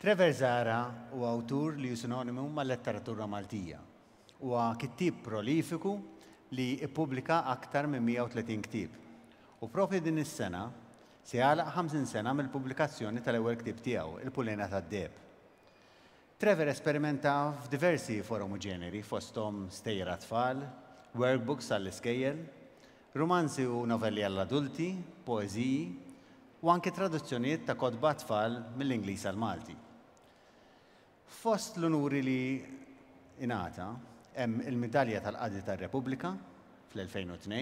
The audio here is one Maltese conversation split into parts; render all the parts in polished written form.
Trevor Zahra huwa awtur li hu sinonimu mal-letteratura Maltija. Huwa kittieb prolifiku li ppubblika aktar minn 130 ktieb. U proprju din is-sena se jagħlaq 50 sena mill-pubblikazzjoni tal-ewwel ktieb tiegħu, Il-Pulena tad-Deheb. Trevor esperimenta f'diversi forom u ġeneri, fosthom stejjer għat-tfal, workbooks għall-iskejjel, rumanzi u novelli għall-adulti, poeżiji, u anke traduzzjonijiet ta' kotba għat-tfal mill-Ingliż għall-Malti. Fost l-unuri li ingħata hemm il-Midalja tal-Qadi tar-Repubblika fl-2002,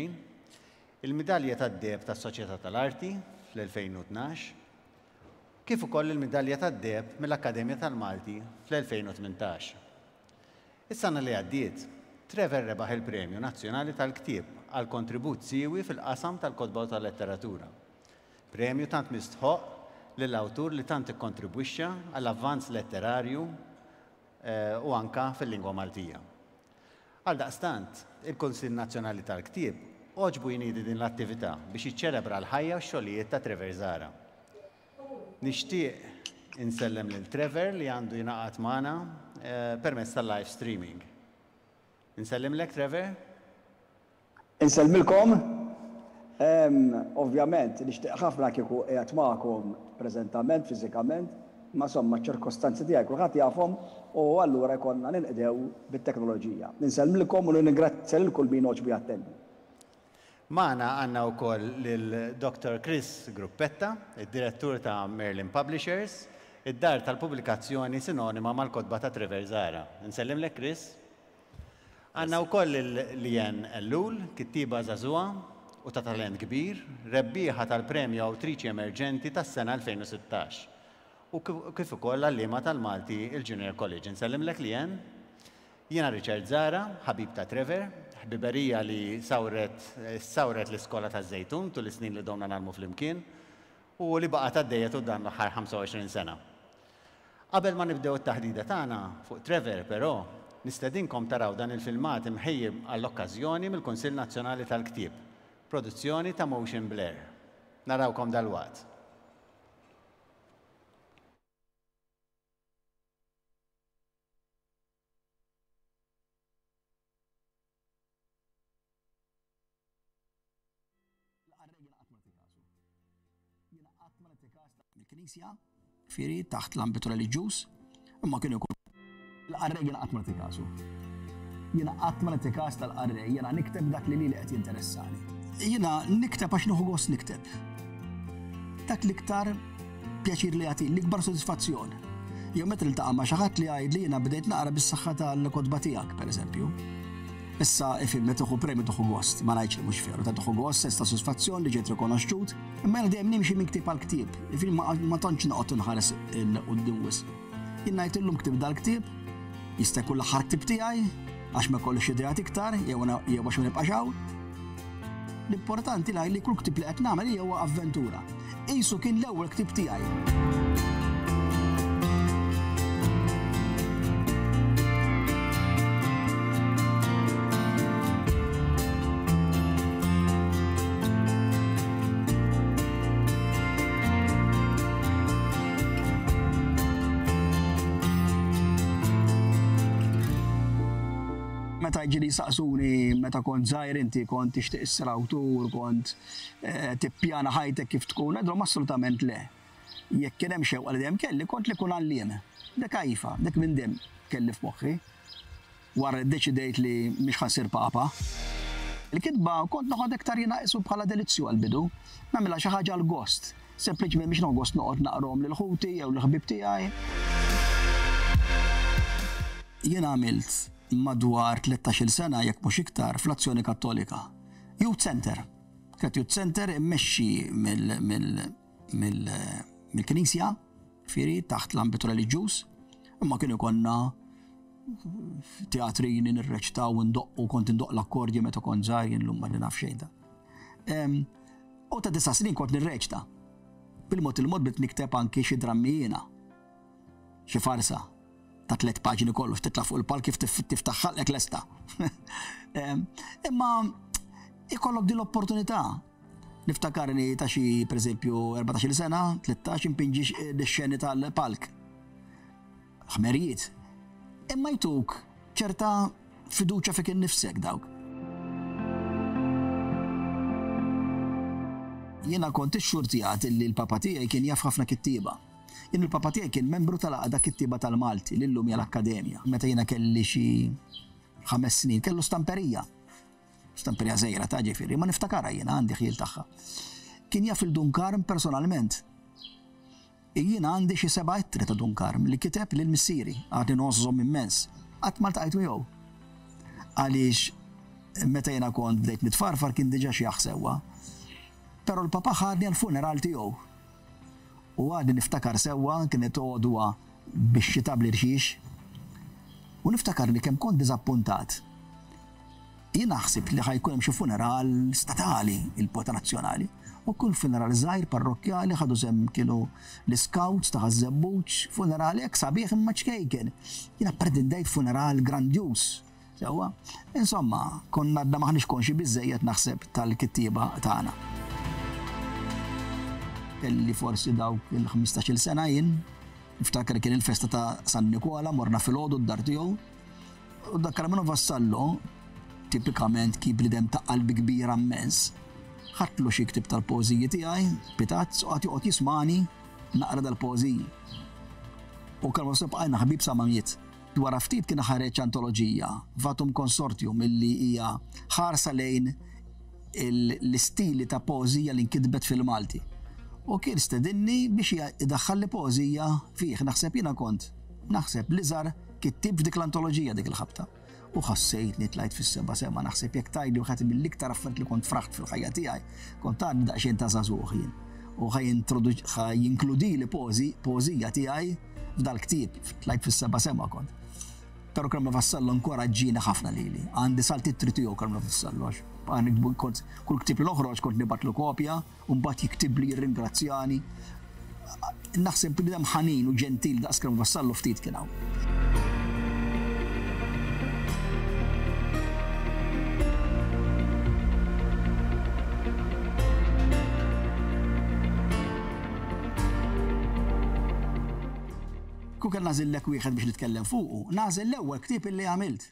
il-Midalja tad-Deheb tas-Soċjetà tal-Arti fl-2012, kif ukoll il-Midalja tad-Deheb mill-Akkademja tal-Malti fl-2018. Is-sena li għaddiet, Trevor rebaħ il-Premju Nazzjonali tal-Ktieb għal kontribut siewi fil-qasam tal-kotba u tal-letteratura. Premju tant mistħoqq lil awtur li tant ikkontribwixxa għall-avvanz letterarju u anka fil-lingwa Maltija. Għaldaqstant, il-Kunsill Nazzjonali tal-Ktieb għoġbu jniedi din l-attività biex jiċċelebra l-ħajja u x-xogħlijiet ta' Trevor Zahra. Nixtieq insellem lil Trevor li għandu jingħaqad magħna permezz tal-live streaming. Insellimlek Trevor. Insellmilkom. Ovvjament nixtieq ħafna kieku qiegħed magħkom preżentament, fiżikament, imma insomma ċ-ċirkostanzi tiegħi kulħadd jafhom u allura jkollna ninqdew bit-teknoloġija. Insellmilkom u nirringrazzja lil kull min għoġbu jattendi. Magħna għandna wkoll lil Dottor Chris Gruppetta, id-Direttur ta' Merlin Publishers, id-dar tal-pubblikazzjoni sinonima mal-kotba ta' Trevor Zahra. Insellimlek Chris. Għandna wkoll lil Leanne Ellul, kittieba żagħżugħa u ta' talent kbir, rebbieħa tal-Premju Awtriċi Emerġenti tas-sena 2016 u kif ukoll għalliema tal-Malti il-Junior College. Insellimlek Leanne. Jiena Richard Zahra, ħabib ta' Trevor, ħbiberija li sawret sawret l-iskola taż-Żejtun tul is-snin li domna ngħallmu flimkien u li baqgħet għaddejja tul dan l-aħħar 25 sena. Qabel ma nibdew it-taħdida tagħna fuq Trevor, però, nistedinkom taraw dan il-filmat imħejji għall-okkażjoni mill-Kunsill Nazzjonali tal-Ktieb, produzzjoni ta' Motion Blur. Narawkom dalwaqt. L-qarrej jiena qatt ma nagħti kasu. Jiena qatt ma nagħti kas mill-Knisja, fieri taħt l-ambitu reliġjuż, imma kienu jkun. L-qarrej jiena qatt ma nagħti kasu. Jiena qatt ma nagħti kas tal-qarrej, jiena nikteb dak li lili qed jinteressani. Jiena nikteb għax nieħu gost nikteb. Dak l-iktar pjaċir li jagħti l-ikbar sodisfazzjon. Jew meta niltaqa' ma' xi ħadd li jgħid li jiena bdejt naqra bis-saħħa tal-kotba tiegħek, pereżempju. Issa ifhem meta tieħu premju tieħu gost, ma ngħidx li mhux veru, ta' tieħu gost, sens ta' sodisfazzjon li ġejt rikonoxxut, imma jiena dejjem nimxi minn ktieb għal ktieb, ifhem ma tantx noqgħod inħares 'il quddiem wisq. Jien ngħid illum ktibt dal-ktieb, jista' jkun l-aħħar ktieb tiegħi, għax ma jkollix ideat iktar, jew għax ma nibqax hawn. L-importanti li kull ktieb li qed nagħmel hija huwa avventura. Qisu kien l-ewwel ktieb tiegħi. Meta ġieli jsaqsuni meta kont żgħir inti kont tixtieq issir awtur, kont eh, tippjana ħajtek kif tkun, ngħidilhom assolutament le. Jekk kien hemm xewqa li dejjem kelli, kont li nkun għalliem. Dik iva, dik minn dejjem kelli f'moħħi. Wara li ddeċidejt li mhix ħa nsir Papa. Il-kitba kont noħodha iktar jiena qisu bħala delizzju għall-bidu. Nagħmilha xi ħaġa għall-gost. Sempliċement biex nieħu gost noqgħod naqrahom lil ħuti jew lill-ħbieb tiegħi. Jien għamilt madwar tlettax-il sena jekk mhux iktar fl-Azzjoni Kattolika. Youth Centre. Kienet Youth Centre immexxi mill-Knisja, ġifieri taħt l-ambitu reliġjuż, imma kien ikollna teatrini nirreċtaw u ndoqqu, kont indoqq l-akkordju meta kont żgħir, jien llum ma naf xejn ta'. U ta' disa' snin kont nirreċta. Bil-mod il-mod bdiet nikteb anki xi drammi jiena. Xi farsa ta' tliet paġni kollox, titla' fuq il-palk kif tiftaħ ħalqek lesta. Imma ikollok din l-opportunità. Niftakarni ta' xi pereżempju 14-il sena, 13 impinġi x-xeni tal-palk. Ħmerijiet. Imma jtuk ċerta fiduċja fik innifsek dawk. Jiena kont ixxurtjat illi l-papa tiegħi kien jaf ħafna kittieba. Jien il-papa tiegħi kien membru tal-Għaqda Kittieba tal-Malti li llum hija l-Akkademja. Meta jiena kelli xi ħames snin kellu stamperija. Stamperija żgħira ta' ġifieri, ma niftakarha jiena għandi ħjiel tagħha. Kien jaf il Dun Karm personalment. Jiena għandi xi seba' ittri ta' Dun Karm li kiteb lil missieri, għadni ngħożżhom immens. Qatt ma ltqajt miegħu. Għaliex meta jiena kont bdejt nitfarfar kien diġà xjaħ sewwa. Però l-papà ħadni għall-funeral tiegħu. U għadni niftakar sewwa kienet għodwa bix-xita bl-irxix. U niftakarni kemm kont diżappuntat. Jiena ħsibt li ħa jkun hemm xi funeral statali, il-poeta nazzjonali. U kien funeral żgħir parrokkjali ħadu sehem kienu l-iscouts ta' Ħaż-Żebbuġ, funeral hekk sabiħ imma ċkejken. Jiena ppretendejt funeral grandjuż. Sewwa? Insomma, konna għadna m'aħniex konxji biżżejjed naħseb tal-kittieba tagħna. Kelli forsi dawk il-ħmistax-il sena jien, niftakar kien il-festa ta' San Nikola, morna filgħodu d-dar tiegħu. U dak Carmelo Vassallo, tipikament kien bniedem ta' qalbi kbira mmens, ħadtlu xi ktieb tal-poeżiji tiegħi, pitazz, u qagħad joqgħod jismagħni naqra dal-poeżiji. U Carmelo Vassallo bqajna ħbieb sa ma miet. Wara ftit kien ħareġ antoloġija, Vatum Consortium, illi hija ħarsa lejn l-istili ta' poeżija li nkitbet fil-Malti. U kien stedinni biex idaħħalli poeżija fih. Naħseb jiena kont, naħseb l-iżgħar Kittieb f'dik l-antoloġija dik il-ħabta. U ħassejtni tlajt fis-seba' sema, naħseb jekk tgħidli wieħed mill-iktar affarijiet li kont fraħt fil-ħajja tiegħi, kont għadni daqsxejn ta' żagħżugħ jien. U ħa ħa jinkludili poeżija tiegħi f'dal-ktieb, tlajt fis-seba' sema kont. Però Karmenu Vassallo inkoraġġieni ħafna lili. Għandi salt ittri tiegħu Karmenu Vassallo għax kont kull ktieb li noħroġ kont nibgħatlu kopja u mbagħad jiktibli jirringrazzjani. Naħseb bniedem ħanin u ġentil daqs kemm Vassallo ftit kien hawn. Kieku kelli nagħżillek wieħed biex nitkellem fuqu, nagħżel l-ewwel ktieb illi għamilt.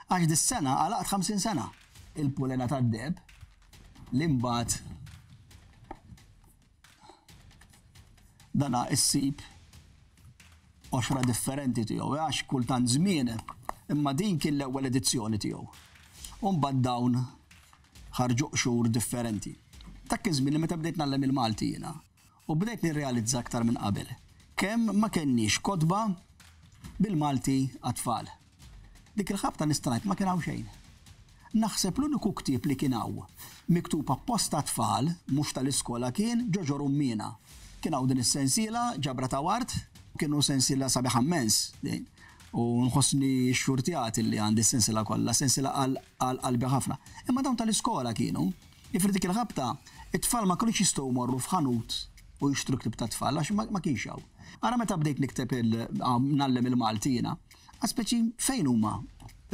Għax dis-sena għalaqt 50 sena. Il-Pulena tad-Deheb li mbagħad dana issib qoxra differenti tiegħu eh, għax kultant żmien imma din kien l-ewwel edizzjoni tiegħu. U mbagħad dawn ħarġu qxur differenti. Dak kien żmien li meta bdejt ngħallem il-Malti jiena u bdejt nirrealizza aktar minn qabel kemm ma kenniex kotba bil-Malti għat-tfal. Dik il-ħabta nista' ngħid ma kien hawn xejn. Naħseb l-uniku ktieb li kien hawn miktub apposta għat-tfal, mhux tal-iskola kien Ġoġo Rummiena. Kien hawn din is-sensiela, Ġabra ta' Ward, kienu sensiela sabiħa mmens din u nħossni xxurtjat illi għandi s-sensiela kollha, sensiela għal għal qalbi ħafna. Imma dawn tal-iskola kienu. Jiġifieri dik il-ħabta, it-tfal ma kinux jistgħu jmorru f'ħanut u jixtru ktieb tat-tfal għax ma kienx hawn. Ara meta bdejt nikteb il ngħallem il-Malti jiena, Għas speċi fejn huma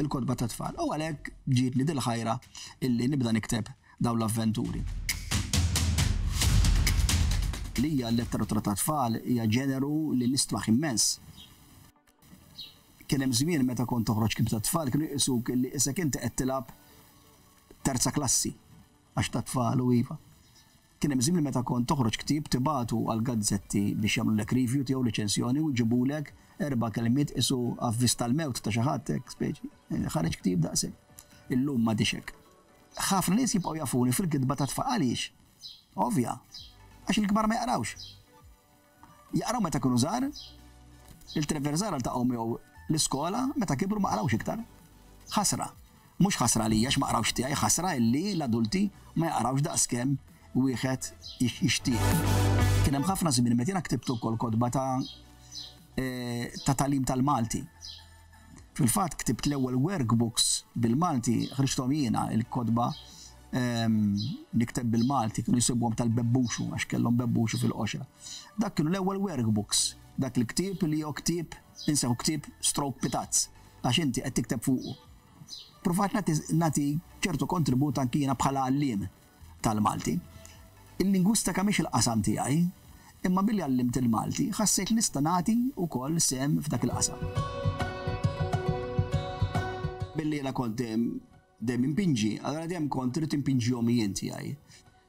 l-kotba tat-tfal? U għalhekk ġietni dil-ħajra illi nibda nikteb dawn l-avventuri. Lija l-letteratura tat-tfal hija ġeneru li nistmaħ immens. Kien hemm żmien meta kont toħroġ ktieb tat-tfal kienu jqisuk illi isek inti qed tilgħab terza klassi għax tat-tfal u iva. Kien hemm żmien meta kont toħroġ ktieb tibagħtu għall-gazzetti biex jagħmlulek review tiegħu, riċensjoni, u jġibulek erba' kelmiet qisu avviż tal-mewt ta' xi ħadd hekk speċi. Ħareġ ktieb daqshekk. Illum m'għadhiex hekk. Ħafna nies jibqgħu jafuni fil-kitba tat-tfal. Għaliex? Ovvja. Għax il-kbar ma jaqrawx. Jaqraw meta kienu żgħar, lil Trevor Zahra ltaqgħu miegħu l-iskola, meta kibru ma qrawx iktar. Ħasra. Mhux ħasra għalija għax ma qrawx tiegħi, ħasra illi l-adulti ma jaqrawx daqskemm wieħed jixtieq. Kien hemm ħafna żmien meta jiena ktibt ukoll kotba ta' ta' tagħlim tal-Malti. Fil-fatt ktibt l-ewwel workbooks bil-Malti, ħriġthom jiena il-kotba nikteb bil-Malti, kienu jsibuhom tal-bebbuxu għax kellhom bebbuxu fil-qoxra. Dak kienu l-ewwel workbooks, dak il-ktieb li hu ktieb inseħu ktieb stroke pitazz għax inti qed tikteb fuqu. Pruvajt nagħti ċertu kontribut anki jiena bħala għalliem tal-Malti. Il-lingwistika mhix il-qasam tiegħi, Imma billi għallimt il-Malti, ħassejt li nista' nagħti wkoll sehem f'dak il-qasam. Billi jiena kont dejjem dejjem inpinġi, allura dejjem kont irrid inpinġihom jien tiegħi.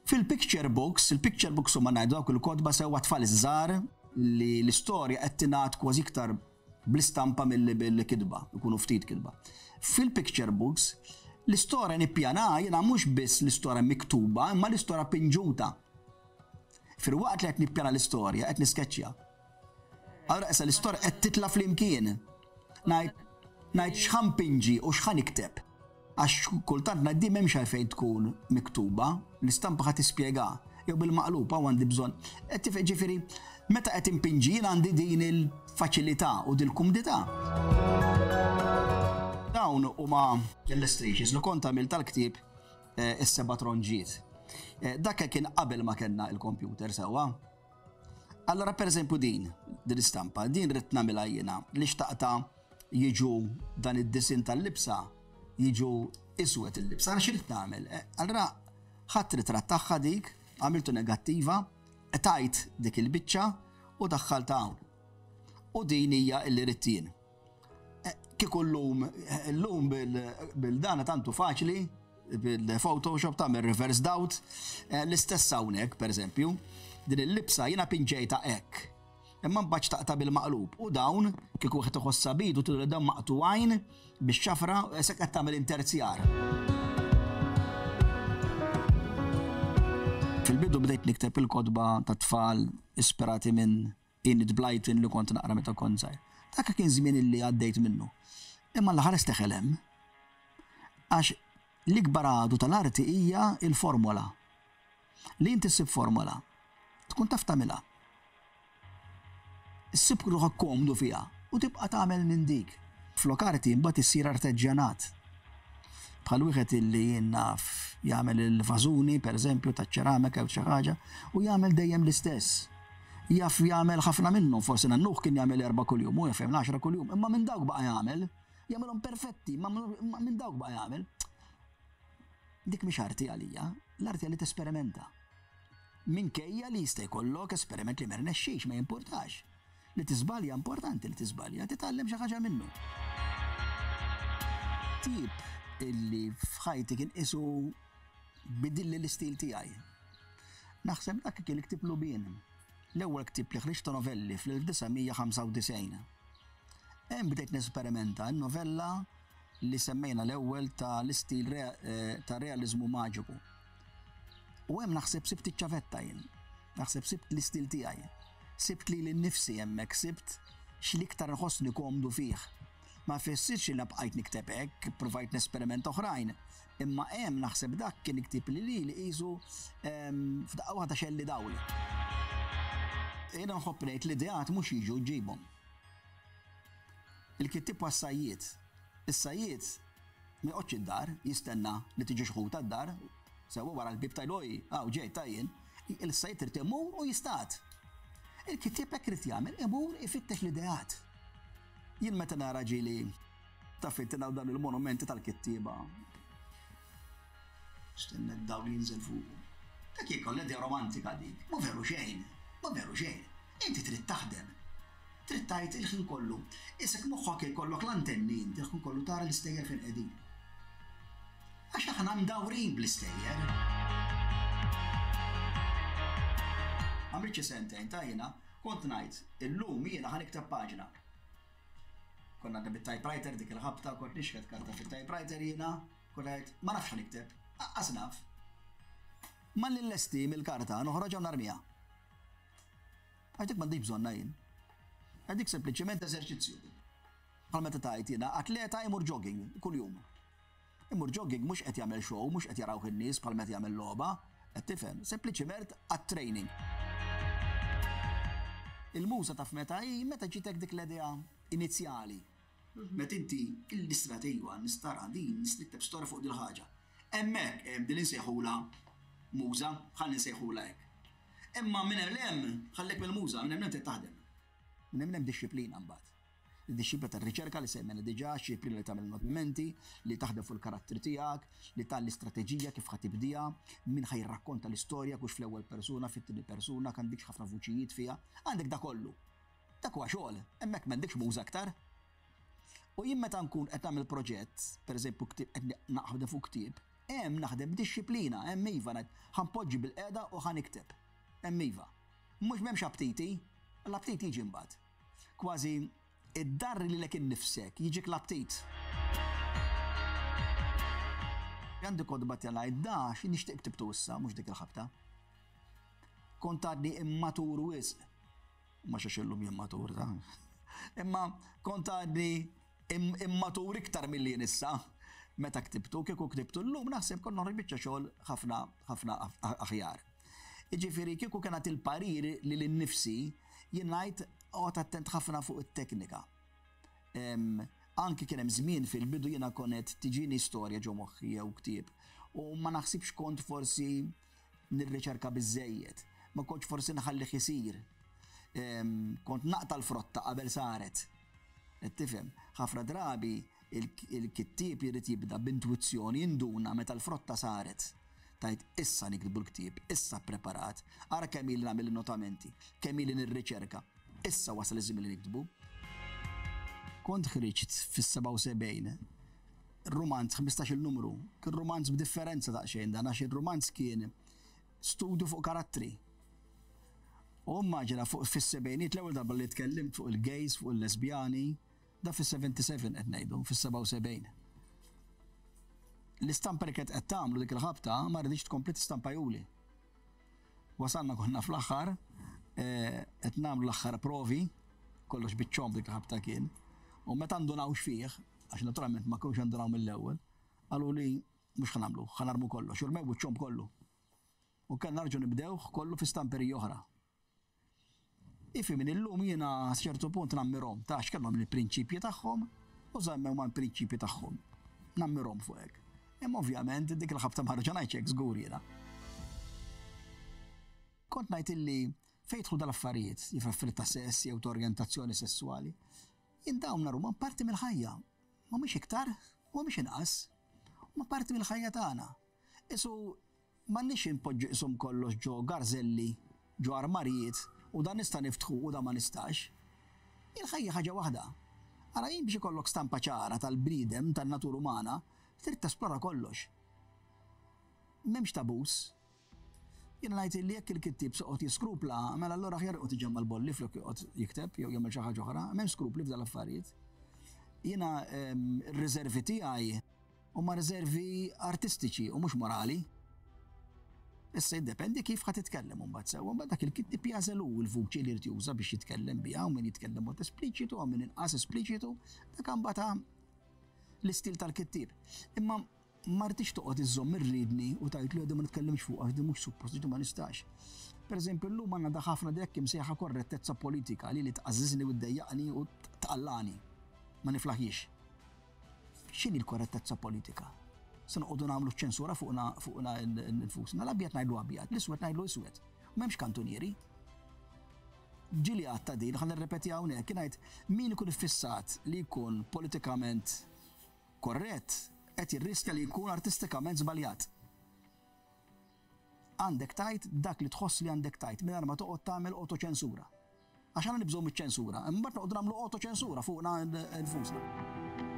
Fil-picture books, il-picture books huma ngħidu dawk il-kotba sewwa tfal iż-żgħar li l-istorja qed tingħad kważi iktar bl-istampa milli bil-kitba, ikunu ftit kitba. Fil-picture books, l-istorja nippjana jiena mhux biss l-istorja miktuba, imma l-istorja pinġuta. Filwaqt li qed nippjana l-istorja, qed niskeċċja. Allura issa l-istorja qed titla' flimkien. Ngħid ngħid x'ħa npinġi u x'ħa nikteb. Għax kultant ngħid din m'hemmx għalfejn tkun miktuba, l-istampa ħa tispjega. Jew bil-maqlub hawn għandi bżonn. Qed tifhem ġifieri meta qed inpinġi jien għandi din il-faċilità u dil-kumdità. Dawn huma illustrations li kont għamilt tal-ktieb eh, is-seba' tronġiet. Eh, dak kien qabel ma kellna il-computer sewwa. Allora per eżempju din, din istampa, din rrid nagħmilha jiena li xtaqta jiġu dan id-disin tal-libsa jiġu iswed il-libsa, għal x'irid nagħmel. Eh, allora ħadd ritratt tagħha dik, għamiltu negattiva, tajt dik il-biċċa u daħħalta hawn. U din hija illi ridt jien. Eh, kieku llum, eh, llum bil-dana tantu faċli, bil-Photoshop tagħmel reverse doubt, eh, l-istess hawnhekk pereżempju, din il-libsa jiena pinġejta hekk. Imma mbagħad xtaqta bil-maqlub u dawn kieku wieħed iħossha bidu tidher dawn maqtugħin bix-xafra se qed tagħmel interzjar. Fil-bidu bdejt nikteb il-kotba tat-tfal ispirati minn Enid Blyton li kont naqra meta kont żgħir. Dak kien żmien illi għaddejt minnu. Imma Alla ħares teħel hemm. Għax l-ikbar għadu tal-arti hija l-formola. Li inti ssib formola, tkun taf tagħmilha. Issib ruħek komdu fiha u tibqa' tagħmel minn dik. Flok arti imbagħad issir arteġġjanat. Bħal wieħed illi jien naf jagħmel il-vażuni, pereżempju, taċ-ċeramika jew xi ħaġa, u jagħmel dejjem l-istess. Jaf jagħmel ħafna minnhom, forsi nannuh kien jagħmel erbgħa kuljum, hu jaf jagħmel għaxra kuljum, imma minn dawk baqa' jagħmel. Jagħmilhom perfetti, imma minn dawk baqa' jagħmel. Dik mhix arti għalija, l-arti li tesperimenta. Minkejja li jista' jkollok esperiment li ma rnexxix, ma jimpurtax. Li tiżbalja importanti li tiżbalja, titgħallem xi ħaġa minnu. Tip illi f'ħajti kien qisu bidilli l-istil tiegħi. Naħseb dak kien il-ktieb Lubien, l-ewwel ktieb li ħriġt ta' novelli fl-1995. Hemm bdejt nesperimenta n-novella li semmejna l-ewwel ta' l-istil eh, ta' realiżmu maġiku. U hemm naħseb sibt iċ-ċavetta jien. Naħseb sibt l-istil tiegħi. Sibt lili nnifsi hemmhekk, sibt x'l-iktar nħossni komdu fih. Ma jfissirx li bqajt nikteb hekk, ippruvajt nesperimenta oħrajn, imma hemm naħseb dak kien ktieb li lili qisu ehm, f'daqqa waħda xelli dawl. Jiena nħobb ngħid l-ideat mhux jiġu ġġibhom. Il-kittieb huwa s-sajjied. Is-sajjied ma joqgħodx id-dar jistenna li tiġi xi ħuta d-dar, sewwa wara l-bieb tgħidlu oj, hawn ġejt ta' jien. Il-sajjied irid imur u jistad. Il-kittieb hekk irid jagħmel, imur ifittex l-ideat. Jien meta nara ġieli taf inti naraw dawn il-monumenti tal-kittieba. Stenna d-dawl jinżel fuqu. Dak jekk l-idea romantika dik, ma veru xejn, ma veru xejn. Inti trid taħdem. Trid tgħid il-ħin kollu. Isek moħħok jkollok l-antenni inti l-ħin kollu tara l-istejjer fejn qegħdin. Għax aħna mdawrin bl-istejjer. Għamilt xi sentejn ta' jiena kont ngħid illum jiena ħa nikteb paġna. Konna għadna bit-typewriter dik il-ħabta, kont nixħet karta fit-typewriter jiena, kont ngħid ma nafx nikteb, aqqas naf. Malli nlesti mill-karta noħroġha u narmiha. Għax dik m'għandix bżonnha jien. Għax dik sempliċement eżerċizzju. Bħal meta tgħid jiena atleta imur jogging kuljum. Imur jogging mhux qed jagħmel show, mhux qed jarawh in-nies bħal meta jagħmel logħba, qed tifhem, sempliċiment għat-training. Il-muża taf meta hi, meta ġietek dik l-idea inizjali. Meta inti l-istrateġija nistara din, nikteb storja fuq dil-ħaġa. Hemmhekk hemm din insejħulha muża, ħalli nsejħulha hekk. Imma minn hemm 'l hemm, ħallek mill-muża, minn hemm 'l hemm trid taħdem. Minn hemm 'l hemm dixxiplina mbagħad. Id-dixxiplina tar-riċerka li semmejna diġà, xxiplina li tagħmel notmenti, li taħdem fuq il-karattri tiegħek, li tgħalli strateġija kif ħa tibdiha, min ħa jirrakkonta l-istorja, kux fl-ewwel persuna, fit-tieni persuna, għandikx ħafna vuċijiet fiha. Għandek da kollu. Dak huwa xogħol, hemmhekk m'għandekx muża aktar. U jien meta nkun qed nagħmel proġett, pereżempju ktieb qed naħdem fuq ktieb, hemm naħdem b'dixxiplina, hemm iva ngħid ħa npoġġi bilqiegħda u ħa nikteb. Hemm iva. Mhux m'hemmx aptiti, l-aptit jiġi mbagħad. Kważi iddarri lilek innifsek, jiġik l-aptit. Għandi kotba tiegħi ngħid da xi nixtieq ktibtu issa, mhux dik il-ħabta. Kont għadni immatur wisq. Mhux għax illum jien matur ta. Imma kont għadni immatur iktar milli jien issa meta ktibtu, kieku ktibtu llum naħseb kont noħroġ biċċa xogħol ħafna ħafna aħjar. Jiġifieri kieku kien nagħti l-parir lili nnifsi, jien ngħid oqgħod attent ħafna fuq it-teknika. Anki kien hemm żmien fil-bidu jiena konet tiġini storja ġo moħħi jew ktieb u ma naħsibx kont forsi nirriċerka biżżejjed. Ma kontx forsi nħallih isir. Kont naqta' l-frotta qabel saret. Qed tifhem? Ħafna drabi il-kittieb jrid jibda b'intwizzjoni, jinduna meta l-frotta saret. Tgħid issa niktbu l-ktieb, issa ppreparat, ara kemm ili nagħmel in-notamenti, kemm ili nirriċerka, issa wasal iż-żmien li niktbu. Kont ħriġt fis-77 rumanz 15-il numru, kien rumanz b'differenza daqsxejn dan għax ir-rumanz kien studju fuq karattri. U immaġina fuq fis-sebgħiniet l-ewwel darba li tkellimt fuq il-gays, fuq il-lesbjani, Da fis-77 qed ngħidu, fis-77. L-istampa li kienet qed tagħmlu dik il-ħabta ma rridx tkompli tistampajuli. Wasalna konna fl-aħħar, eh, qed nagħmlu l-aħħar provi, kollox biċ-ċomb dik il-ħabta kien. U meta ndunawx fih, għax naturalment ma kinux ndunaw mill-ewwel, qalu li mhux ħa nagħmlu, ħa narmu kollox, u rmew iċ-ċomb kollu. U kellna nerġgħu nibdewh kollu fi stamperija oħra. Ifhimni, illum jiena sa ċertu punt nammirhom ta' għax kellhom il-prinċipji tagħhom u żammew mal-prinċipji tagħhom. Nammirhom fuq hekk. Imma ovvjament dik il-ħabta ma rġa' ngħidx hekk żgur jiena. Kont ngħid illi fejn jidħlu dal-affarijiet, jif affarijiet ta' sess jew ta' orjentazzjoni sesswali, jien dawn narhom parti mill-ħajja. Mhumiex iktar u mhumiex inqas. Huma parti mill-ħajja tagħna. Isu M'għandniex inpoġġu qishom kollox ġo garżelli, ġo armarijiet u dan nista' niftħu u dan ma nistax. Il-ħajja ħaġa waħda. Ara jien biex ikollok stampa ċara tal-bniedem, tan-natura umana, trid tesplora kollox. M'hemmx tabus. Jiena ngħid illi jekk il-kittieb se joqgħod jiskrupla, mela allura aħjar joqgħod iġemma' l-bolli flok joqgħod jikteb jew jagħmel xi ħaġa oħra. M'hemmx skrupli f'dan l-affarijiet. Jiena r-riservi tiegħi Huma riservi artistiċi u mhux morali. Issa jiddependi kif ħa titkellem imbagħad sewwa, mbagħad dak il-kittieb jagħżel hu l-vuċi li jrid juża biex jitkellem biha, hawn min jitkellem mod espliċitu, hawn min inqas espliċitu, dak imbagħad l-istil tal-kittieb. Imma ma rridx toqgħod iżżomm ir-riedni u tgħid li ma nitkellimx fuq għax di mhux suppost di ma nistax. Per eżempju, llum għandna da ħafna dik imsejħa korrettezza politika li li tqażżiżni u ddejjaqni u tqallani. Ma niflaħjiex. X'inhi l-korrettezza politika? Se noqogħdu nagħmlu ċensura fuqna fuqna nfusna. L-abjad ngħidlu abjad, l-iswed ngħidlu iswed. M'hemmx kantunieri. Ġieli għadta din, ħa nirrepeti hawnhekk, kien ngħid min ikun iffissat li jkun politikament korrett qed jirriskja li jkun artistikament żbaljat. Għandek tgħid dak li tħoss li għandek tgħid mingħajr ma toqgħod tagħmel awtoċensura. Għax aħna nibżgħu miċ-ċensura, imbagħad noqogħdu nagħmlu awtoċensura fuqna nfusna.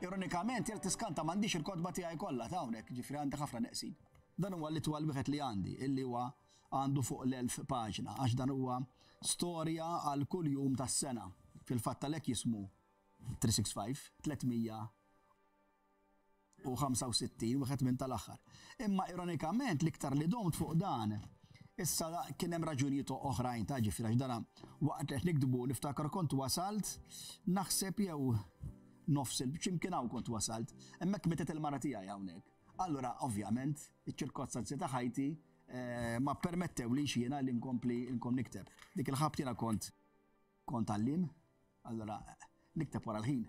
Ironikament, jekk tiskanta m'għandix il-kotba tiegħi kollha ta' hawnhekk, ġifieri għandi ħafna neqsin. Dan huwa l-itwal wieħed li għandi, illi huwa għandu fuq l-1000 paġna, għax dan huwa storja għal kull jum tas-sena. Fil-fatt għalhekk jismu 365, 365, wieħed minn tal-aħħar. Imma ironikament l-iktar li domt fuq dan, issa kien hemm raġunijiet oħrajn ta' ġifieri għax dana waqt li qed niktbu niftakar kont wasalt naħseb jew nofs il x'imkien hawn kont wasalt. Hemmhekk mietet il-mara tiegħi hawnhekk. Allura ovvjament iċ-ċirkostanzi ta' ħajti eh, ma permettewlix jiena li nkompli nkom nikteb. Dik il-ħabt jiena kont Kont għalliem, allura nikteb wara l-ħin.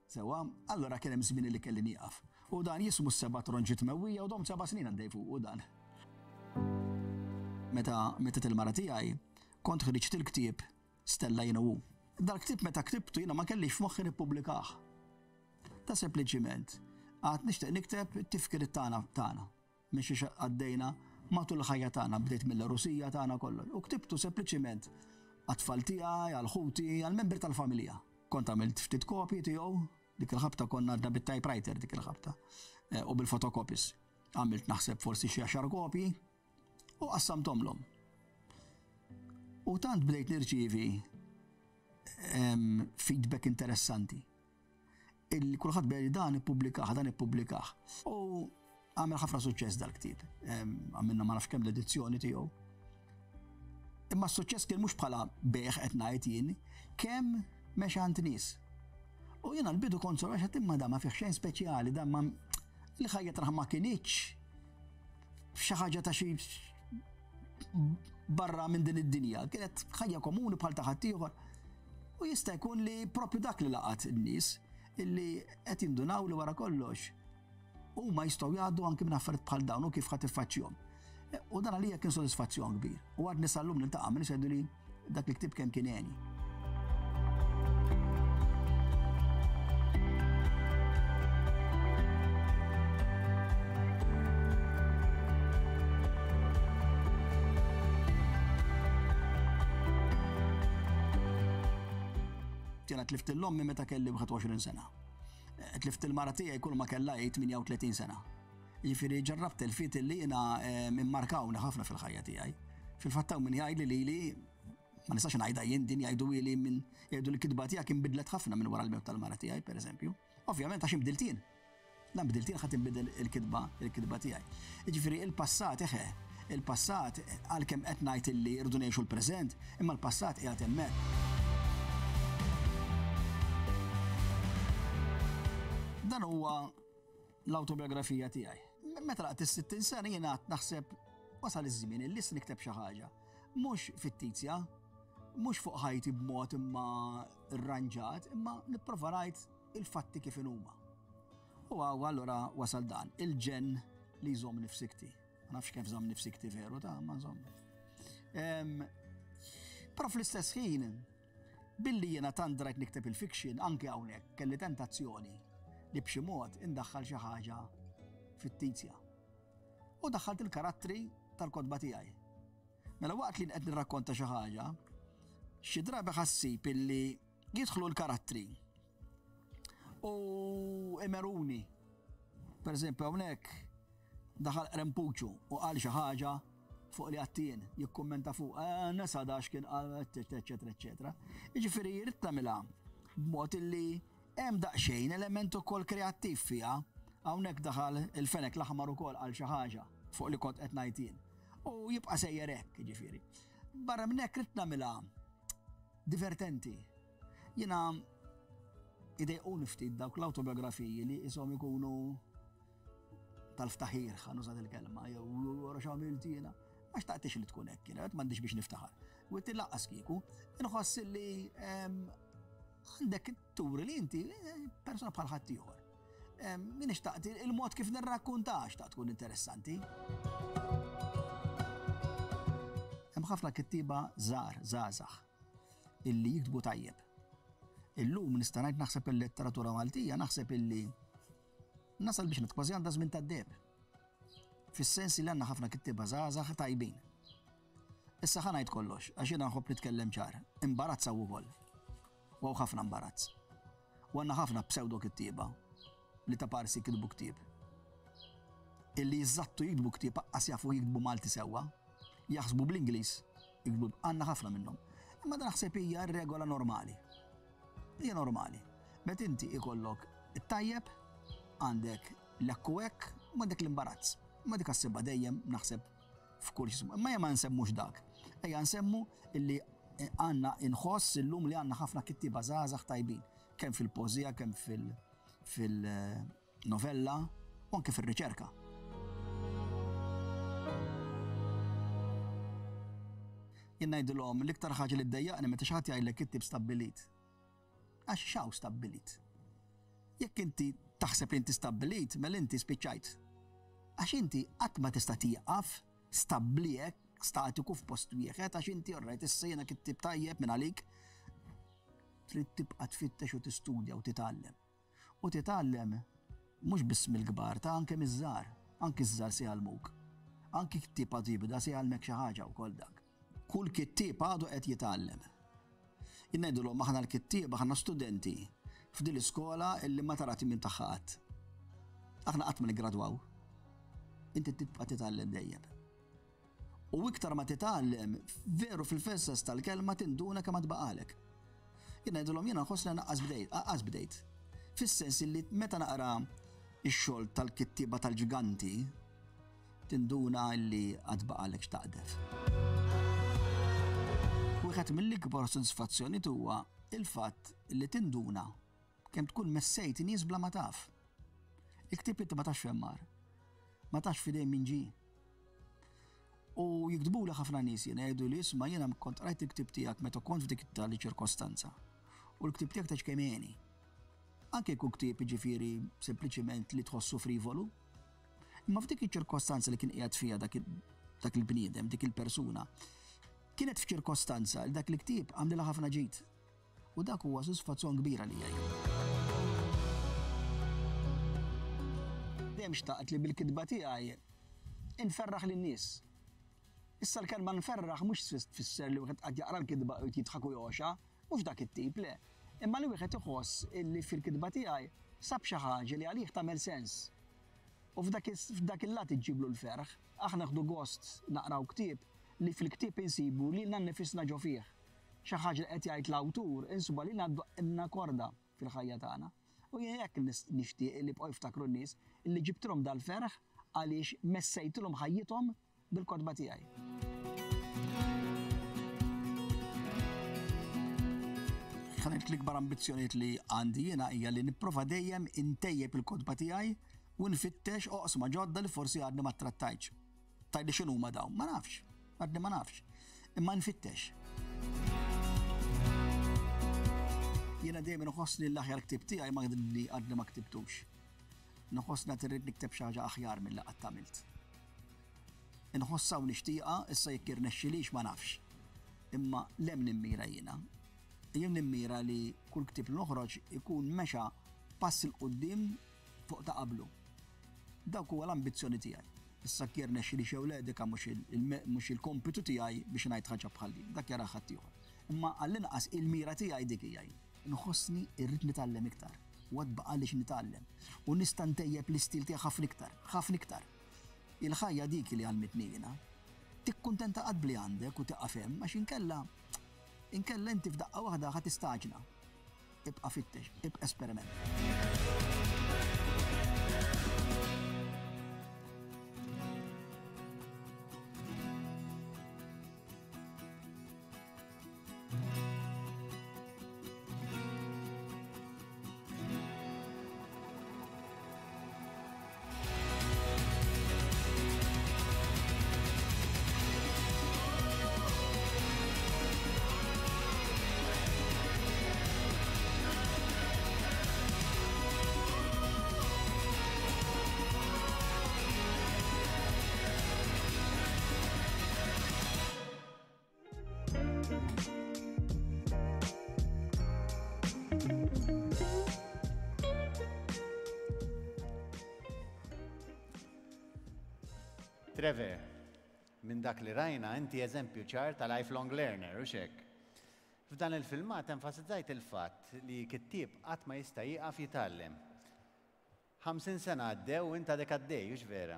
Sewwa, allura kien hemm żmien li kelli nieqaf. U dan jismu s-seba' tronġiet mewwija u domt seba' snin għaddej fuqu dan. Meta mietet il-mara tiegħi, kont ħriġt il-ktieb Stella Jien u Hu. Dal-ktieb meta ktibtu jiena ma kellix f'moħħi nippubblikah. Ta' sempliċiment għad nixtieq nikteb it-tifkiriet tagħna tagħna minn xiex għaddejna matul il-ħajja tagħna, bdejt mill-għerusija tagħna kollox. U ktibtu sempliċiment għat-tfal tiegħi, għal ħuti, għall-membri tal-familja. Kont għamilt ftit kopji tiegħu, dik il-ħabta konna għadna bit-typewriter dik il-ħabta eh, u bil-fotocopies. Għamilt naħseb forsi xi għaxar kopji u qassamtomlhom. U tant bdejt nirċievi feedback interessanti. Il kulħadd bdej dan ippubblikah, dan ippubblikah. U għamel ħafna suċċess dal-ktieb. Għamilna ma nafx kemm l-edizzjoni tiegħu. Imma s-suċċess kien mhux bħala bejgħ qed ngħid jien, kemm mexa għand nies. U jiena l-bidu kont sor għax imma dan ma fih xejn speċjali, dan ma l-ħajja tagħha ma kinitx xi ħaġa ta' xi barra minn din id-dinja, kienet ħajja komuni bħal ta' ħaddieħor. U jista' jkun li propju dak li laqat in-nies illi qed jindunaw li wara kollox huma jistgħu jgħaddu anki minn affarijiet bħal dawn u kif ħadd iffaċċjhom. U dan għalija kien sodisfazzjon kbir. U għadni sal-lum niltaqa' minn jgħidu li dak il-ktieb kemm kien għeni. Jiena tlift l-ommi meta kelli 21 sena. Tlift il-mara tiegħi kull ma kellha 38 sena. Jiġifieri ġarrabt telfiet li jiena immarkawni ħafna fil-ħajja tiegħi. Fil-fatt hawn min jgħidli lili ma nistax ngħidha jien din jgħidu li minn jgħidu li kitba tiegħek inbidlet ħafna minn wara l-mewt tal-mara tiegħi pereżempju. Ovvjament għax inbdilt jien. La nbdilt jien ħadd inbidel il-kitba il-kitba tiegħi. Jiġifieri il-passat eħe, il-passat għalkemm qed ngħid illi rridu ngħixu l-preżent, imma l-passat qiegħed hemmhekk. Dan huwa l-awtobiografija tiegħi. Meta laqt is-60 sena jiena naħseb wasal iż-żmien illi issa nikteb xi ħaġa. Mhux fittizja, mhux fuq ħajti b'mod imma rranġat, imma nipprova ngħid il-fatti kif inhuma. U għaw allura wasal dan, il-ġenn li jżommni f'sikti. Ma nafx kif żommni f'sikti veru ta' ma żommni. Però fl-istess ħin, Billi jiena tant drajt nikteb il-fiction, anke hawnhekk kelli tentazzjoni li b'xi mod indaħħal xi ħaġa fittizja. U daħħalt il-karattri tal-kotba tiegħi. Mela waqt li qed nirrakkonta xi ħaġa, xi drabi ħassib illi jidħlu l-karattri u imeruni. Per eżempju hawnhekk daħal Qrempuċu u qal xi ħaġa fuq li għattien, jikkummenta fuq, eh, nesa dax kien qal, eċetera, eċetera. Jiġifieri jrid tagħmilha b'mod illi hemm daqsxejn element ukoll kreattiv fiha. Hawnhekk daħal il-fenek l-aħmar ukoll għal xi ħaġa fuq li kont qed ngħid jien. U jibqa' sejjer hekk, jiġifieri. Barra minn hekk ridt nagħmilha divertenti. Jiena idejquni ftit dawk l-awtobiografiji li ishom ikunu tal-ftaħir, ħa nuża il-kelma, jew wara x'għamilt jiena. Ma xtaqtix li tkun hekk, jiena m'għandix biex niftaħar. U inti laqqas kieku, inħoss li ehm, għandek turi li inti eh, persona bħal ħaddieħor. Ehm, min xtaqt il-mod kif nirrakkunta xtaqt tkun interessanti. Hemm ħafna kittiba żgħar, żgħażagħ, illi jiktbu tajjeb. Illum nista' ngħid naħseb il-letteratura Maltija naħseb illi Nasal biex ngħid kważi għandha żmien tad-deheb. Fis-sens li għandna ħafna kittieba żgħażagħ tajbin. Issa ħa ngħid kollox, għax jiena nħobb nitkellem ċar. Imbarazz hawn ukoll. U hawn ħafna imbarazz. U għandna ħafna pseudo kittieba li ta' parsi kitbu ktieb. Illi jiżżattu jiktbu ktieb aqqas jafu jiktbu Malti sewwa, jaħsbu bl-Ingliż, jiktbu għandna ħafna minnhom. Imma dan naħseb hija r-regola normali. Hija normali. Meta inti ikollok it-tajjeb, għandek l-hekk u hekk, u għandek l-imbarazz. Ma dik ssibha dejjem naħseb f'kull xi Imma ejja ma nsemmux dak. Ejja nsemmu illi għandna inħoss illum li għandna ħafna kittieba żgħażagħ tajbin, kemm fil-poeżija, kemm fil novella u anke fir-riċerka. Jien ngħidilhom l-iktar ħaġa li ddejjaqni meta xi ħadd jgħidlek kittieb stabbilit. Għax x'hawn stabbilit? Jekk inti taħseb li inti stabbilit, mela inti spiċċajt. Għax inti qatt ma tista' tieqaf stabbli hekk. statiku f'post wieħed għax inti orrajt issa jiena kittieb tajjeb minn għalik. Trid tibqa' tfittex u tistudja u titgħallem. U titgħallem mhux biss mill-kbar, ta' anke miż-żgħar. Anki ż-żgħar se jgħallmuk. Anki ktieb għadu jibda se jgħallmek xi ħaġa wkoll dak. Kull kittieb għadu qed jitgħallem. Jien ngħidilhom aħna l-kittieba aħna studenti f'din l-iskola illi ma tara tmiem tagħha qatt. Aħna qatt ma niggradwaw. Inti tibqa' titgħallem dejjem. U iktar ma titgħallem, veru fil-fessas tal-kelma tinduna kemm għad baqalek. Jien ngħidilhom jiena nħoss li naqqas bdejt, aqqas bdejt. Fis-sens li meta naqra x-xogħol tal-kittieba tal-ġganti, tinduna li għad baqalek x'taqdef. Wieħed mill-ikbar sodisfazzjonijiet huwa il-fatt li tinduna kemm tkun messejt nies bla ma taf. Il-ktieb inti ma tafx fejn mar. Ma tafx f'idejn min ġie. U jiktbuli ħafna nies jiena jgħidu li isma' jiena kont qrajt il-ktieb tiegħek meta kont f'dik tali ċirkostanza. U l-ktieb tiegħek ta' kemm għeni. Anke jkun ktieb jiġifieri sempliċiment li tħossu frivolu. Imma f'dik iċ-ċirkostanza li kien qiegħed fiha dak dak il-bniedem, dik il-persuna, kienet f'ċirkostanza li dak il-ktieb għamlilha ħafna ġid. U dak huwa sodisfazzjon kbir għalija jien. Dejjem xtaqt li bil-kitba tiegħi inferraħ lin-nies. Issa l-kelma nferraħ mhux tfisser li wieħed qed jaqra l-kitba u jidħak u jogħxa, mhux dak it-tip, le. Imma li wieħed iħoss illi fil-kitba tiegħi sab xi ħaġa li għalih tagħmel sens. U f'dak il-lat iġġiblu l-ferħ. Aħna nieħdu gost naqraw ktieb li fil-ktieb insibu lilna nnifisna ġo fih. Xi ħaġa li qed jgħid l-awtur insibha lilna ddoqqilna korda fil-ħajja tagħna. U jien hekk nixtieq li jibqgħu jiftakru n-nies li ġibtilhom dal-ferħ għaliex messejtilhom ħajjithom bil-kotba tiegħi. Ħa ngħid l-ikbar ambizzjonijiet li għandi jiena hija li nipprova dejjem intejjeb il-kotba tiegħi u nfittex oqsma ġodda li forsi għadni ma ttrattajtx. Tgħidli x'inhuma dawn? Ma nafx. Għadni ma nafx. Imma nfittex. Jiena dejjem inħossni l-aħjar ktieb tiegħi ma li għadni ma ktibtux. Nħossni għad irrid nikteb xi ħaġa aħjar milli qatt għamilt. Inħossha u nixtieqha, issa jekk jirnexxilix ma nafx. Imma l'hemm nimmira jiena. Jien nimmira li kull ktieb li noħroġ ikun mexa pass 'il quddiem fuq ta' qablu. Dawk huwa l-ambizzjoni tiegħi. Issa jekk jirnexxilix jew le dik mhux il-kompitu tiegħi biex ngħid ħaġa bħal din, dak jarah ħaddieħor. Imma għall-inqas il-mira tiegħi dik hija jien. Inħossni rrid nitgħallem iktar u għad baqagħli x'nitgħallem u nista' ntejjeb l-istil tiegħi ħafna iktar, ħafna iktar. Il-ħajja dik li għallmitni jiena. Tikkuntenta qatt b'li għandek u tieqaf hemm għax inkella inkella inti f'daqqa waħda ħa tistaġna. Ibqa' fittex, ibqa' esperimenta. Trevor, minn dak li rajna inti eżempju ċar ta' lifelong learner, hux hekk? F'dan il-filmat enfasizzajt il-fatt li kittieb qatt ma jista' jieqaf jitgħallem. 50 sena għaddew u int għadek għaddej, hux vera?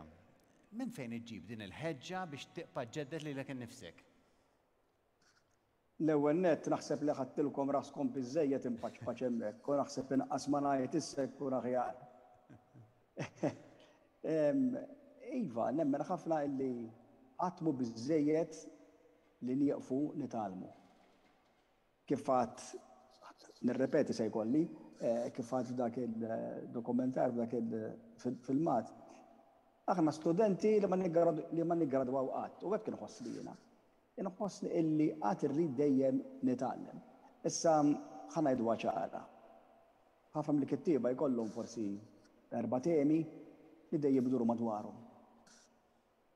Minn fejn iġġib din il-ħeġġa biex tibqa' ġġedded lilek innifsek? L-ewwel nett naħseb li ħadtilkom raskom biżżejjed inpaċpaċ hemmhekk u naħseb inqas ma ngħid issa jkun aħjar. Iva, nemmen ħafna illi qatt mhu biżżejjed li nieqfu nitgħallmu. Kif għadt, nirrepeti se jkolli, kif għadt f'dak il-dokumentar, f'dak il-filmat, aħna studenti li ma niggradwaw qatt u hekk inħossni jiena. Inħossni illi għad irrid dejjem nitgħallem. Issa ħa ngħiduha ċara. Ħafna mill-kittieba jkollhom forsi erba' temi li dejjem iduru madwarhom.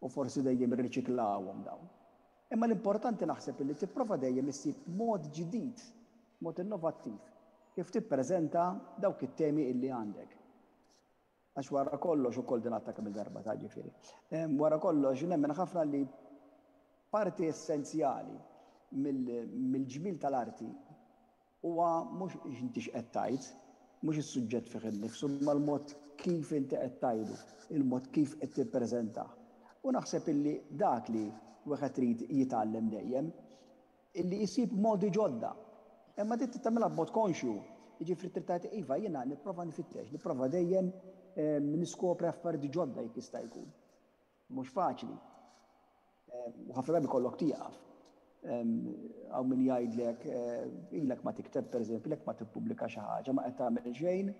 U forsi dejjem irriċiklawhom dawn. Imma l-importanti naħseb illi tipprova dejjem issib mod ġdid, mod innovattiv, kif tippreżenta dawk it-temi illi għandek. Għax wara kollox ukoll din għadtha kemm-il darba ta' ġifieri. Wara kollox nemmen ħafna li parti essenzjali mill-ġmiel tal-arti Huwa mhux inti x'qed tgħid, mhux is-suġġett fih innifsu, imma l-mod kif inti qed tgħidu, il-mod kif qed tippreżentah. U naħseb illi dak li wieħed irid jitgħallem dejjem, illi jsib modi ġodda. Imma din trid tagħmilha b'mod konxju. Jiġifieri trid tgħid iva jiena nipprova nfittex, nipprova dejjem niskopri affarijiet ġodda jekk jista' jkun. Mhux faċli. U ħafna drabi kollok tieqaf. Hawn min jgħidlek eh, ilek ma tikteb pereżempju, ilek ma tippubblika xi ħaġa, ma qed tagħmel xejn.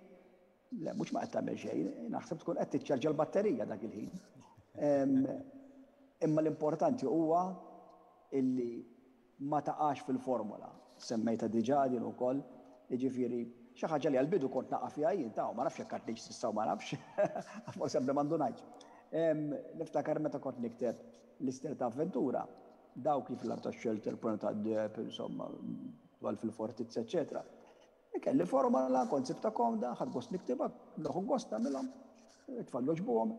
Le, mhux ma qed tagħmel xejn, naħseb tkun qed tiċċarġa l-batterija dak il-ħin. Imma l-importanti huwa illi ma taqax fil-formola. Semmejtha diġà din ukoll, jiġifieri xi ħaġa li għall-bidu kont naqa' fiha jien, ta' ma nafx jekk għadnix s'issa u ma nafx, forsi għadni ma ndunajtx. Niftakar meta kont nikteb l-istorja ta' avventura, dawk li fl-art tax-xelter, Pronta tad-Deheb, insomma, dwal fil-fortizza, eċċetera. Kelli formola, kont sibtha komda, ħadt gost niktibha, nieħu gost nagħmilhom, it-tfal jogħġbuhom,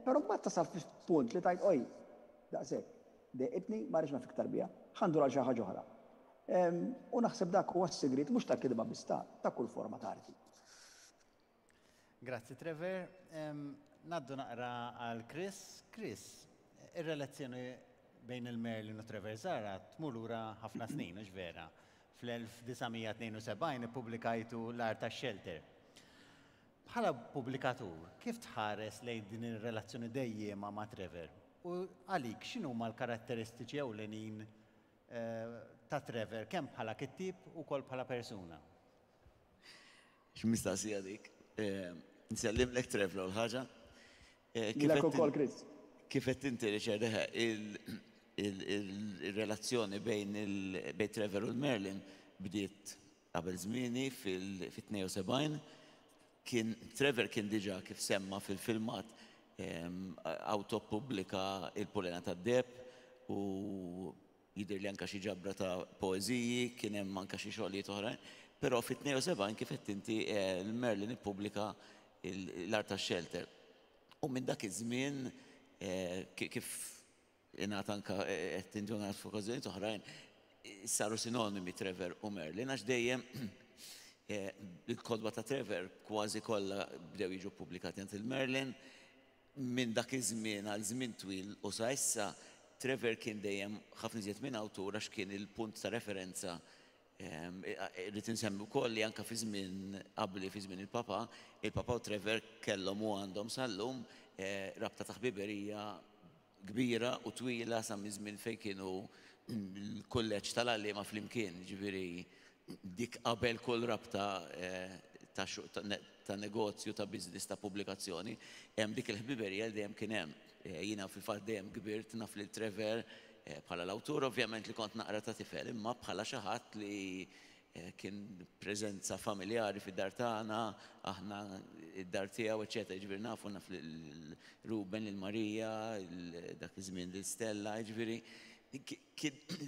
però mbagħad tasal f'punt li tgħid oj, daqshekk. Dejqitni, ma rridx naf iktar biha. Ħa ndur għal xi ħaġa oħra. U naħseb dak huwa s-sigriet mhux tal-kitba biss ta' ta' kull forma ta' arti. Grazzi Trevor. Ngħaddu naqra għal Chris. Chris, ir-relazzjoni bejn il-Merlin u Trevor Zahra tmur lura ħafna snin, hux vera? Fl-1972 ippubblikajtu L-Art tax-Xelter. Bħala pubblikatur, kif tħares lejn din ir-relazzjoni dejjiema ma' Trevor? U għalik x'inhuma l-karatteristiċi ewlenin ta' Trevor kemm bħala kittieb u wkoll bħala persuna? X'mistaqsija dik. Nsellimlek Trev l-ewwel ħaġa. Lilek ukoll Chris. Kif qed inti Richard, eħe, il-relazzjoni bejn Trevor u l-Merlin bdiet qabel żmieni fil-72. Kien Trevor kien diġà kif semma fil-filmat awtoppubblika Il-Pulena tad-Deheb u jidhirli anke xi ġabra ta' poeżiji, kien hemm anke xi xogħlijiet oħrajn. Però fit-72 kif għedt inti Merlin ippubblika L-Art tax-Xelter. U minn dak iż-żmien kif Ingħad anke qed tinġunat f'okkażjonijiet oħrajn, saru sinonimi Trevor u Merlin għax dejjem il-kotba ta' Trevor kważi kollha bdew jiġu ppubblikati għand il-Merlin. Minn dak iż-żmien għal żmien twil u sa issa, Trevor kien dejjem ħafna iżjed minn awtur għax kien il-punt ta' referenza. Irrid insemmi wkoll li anke fi żmien qabli, fi żmien il-Papa, il-Papa u Trevor kellhom u għandhom sal-lum rabta ta' ħbiberija kbira u twila sa minn żmien fejn kienu l-kulleġġ tal-għalliema flimkien, jiġifieri dik qabel kull rabta ta' negozju, ta' business, ta' pubblikazzjoni, hemm dik il-ħbiberija li dejjem kien hemm. Jiena fil-fatt dejjem kbirt naf lil Trevor bħala l-awtur ovvjament li kont naqra ta' tifel, imma bħala xi ħadd li Kien preżenza familjari fid-dar tagħna, aħna d-dar tiegħu, eċċetera. Jiġifieri nafu naf lil Ruben, lil Marija, dak iż-żmien lil Stella, jiġifieri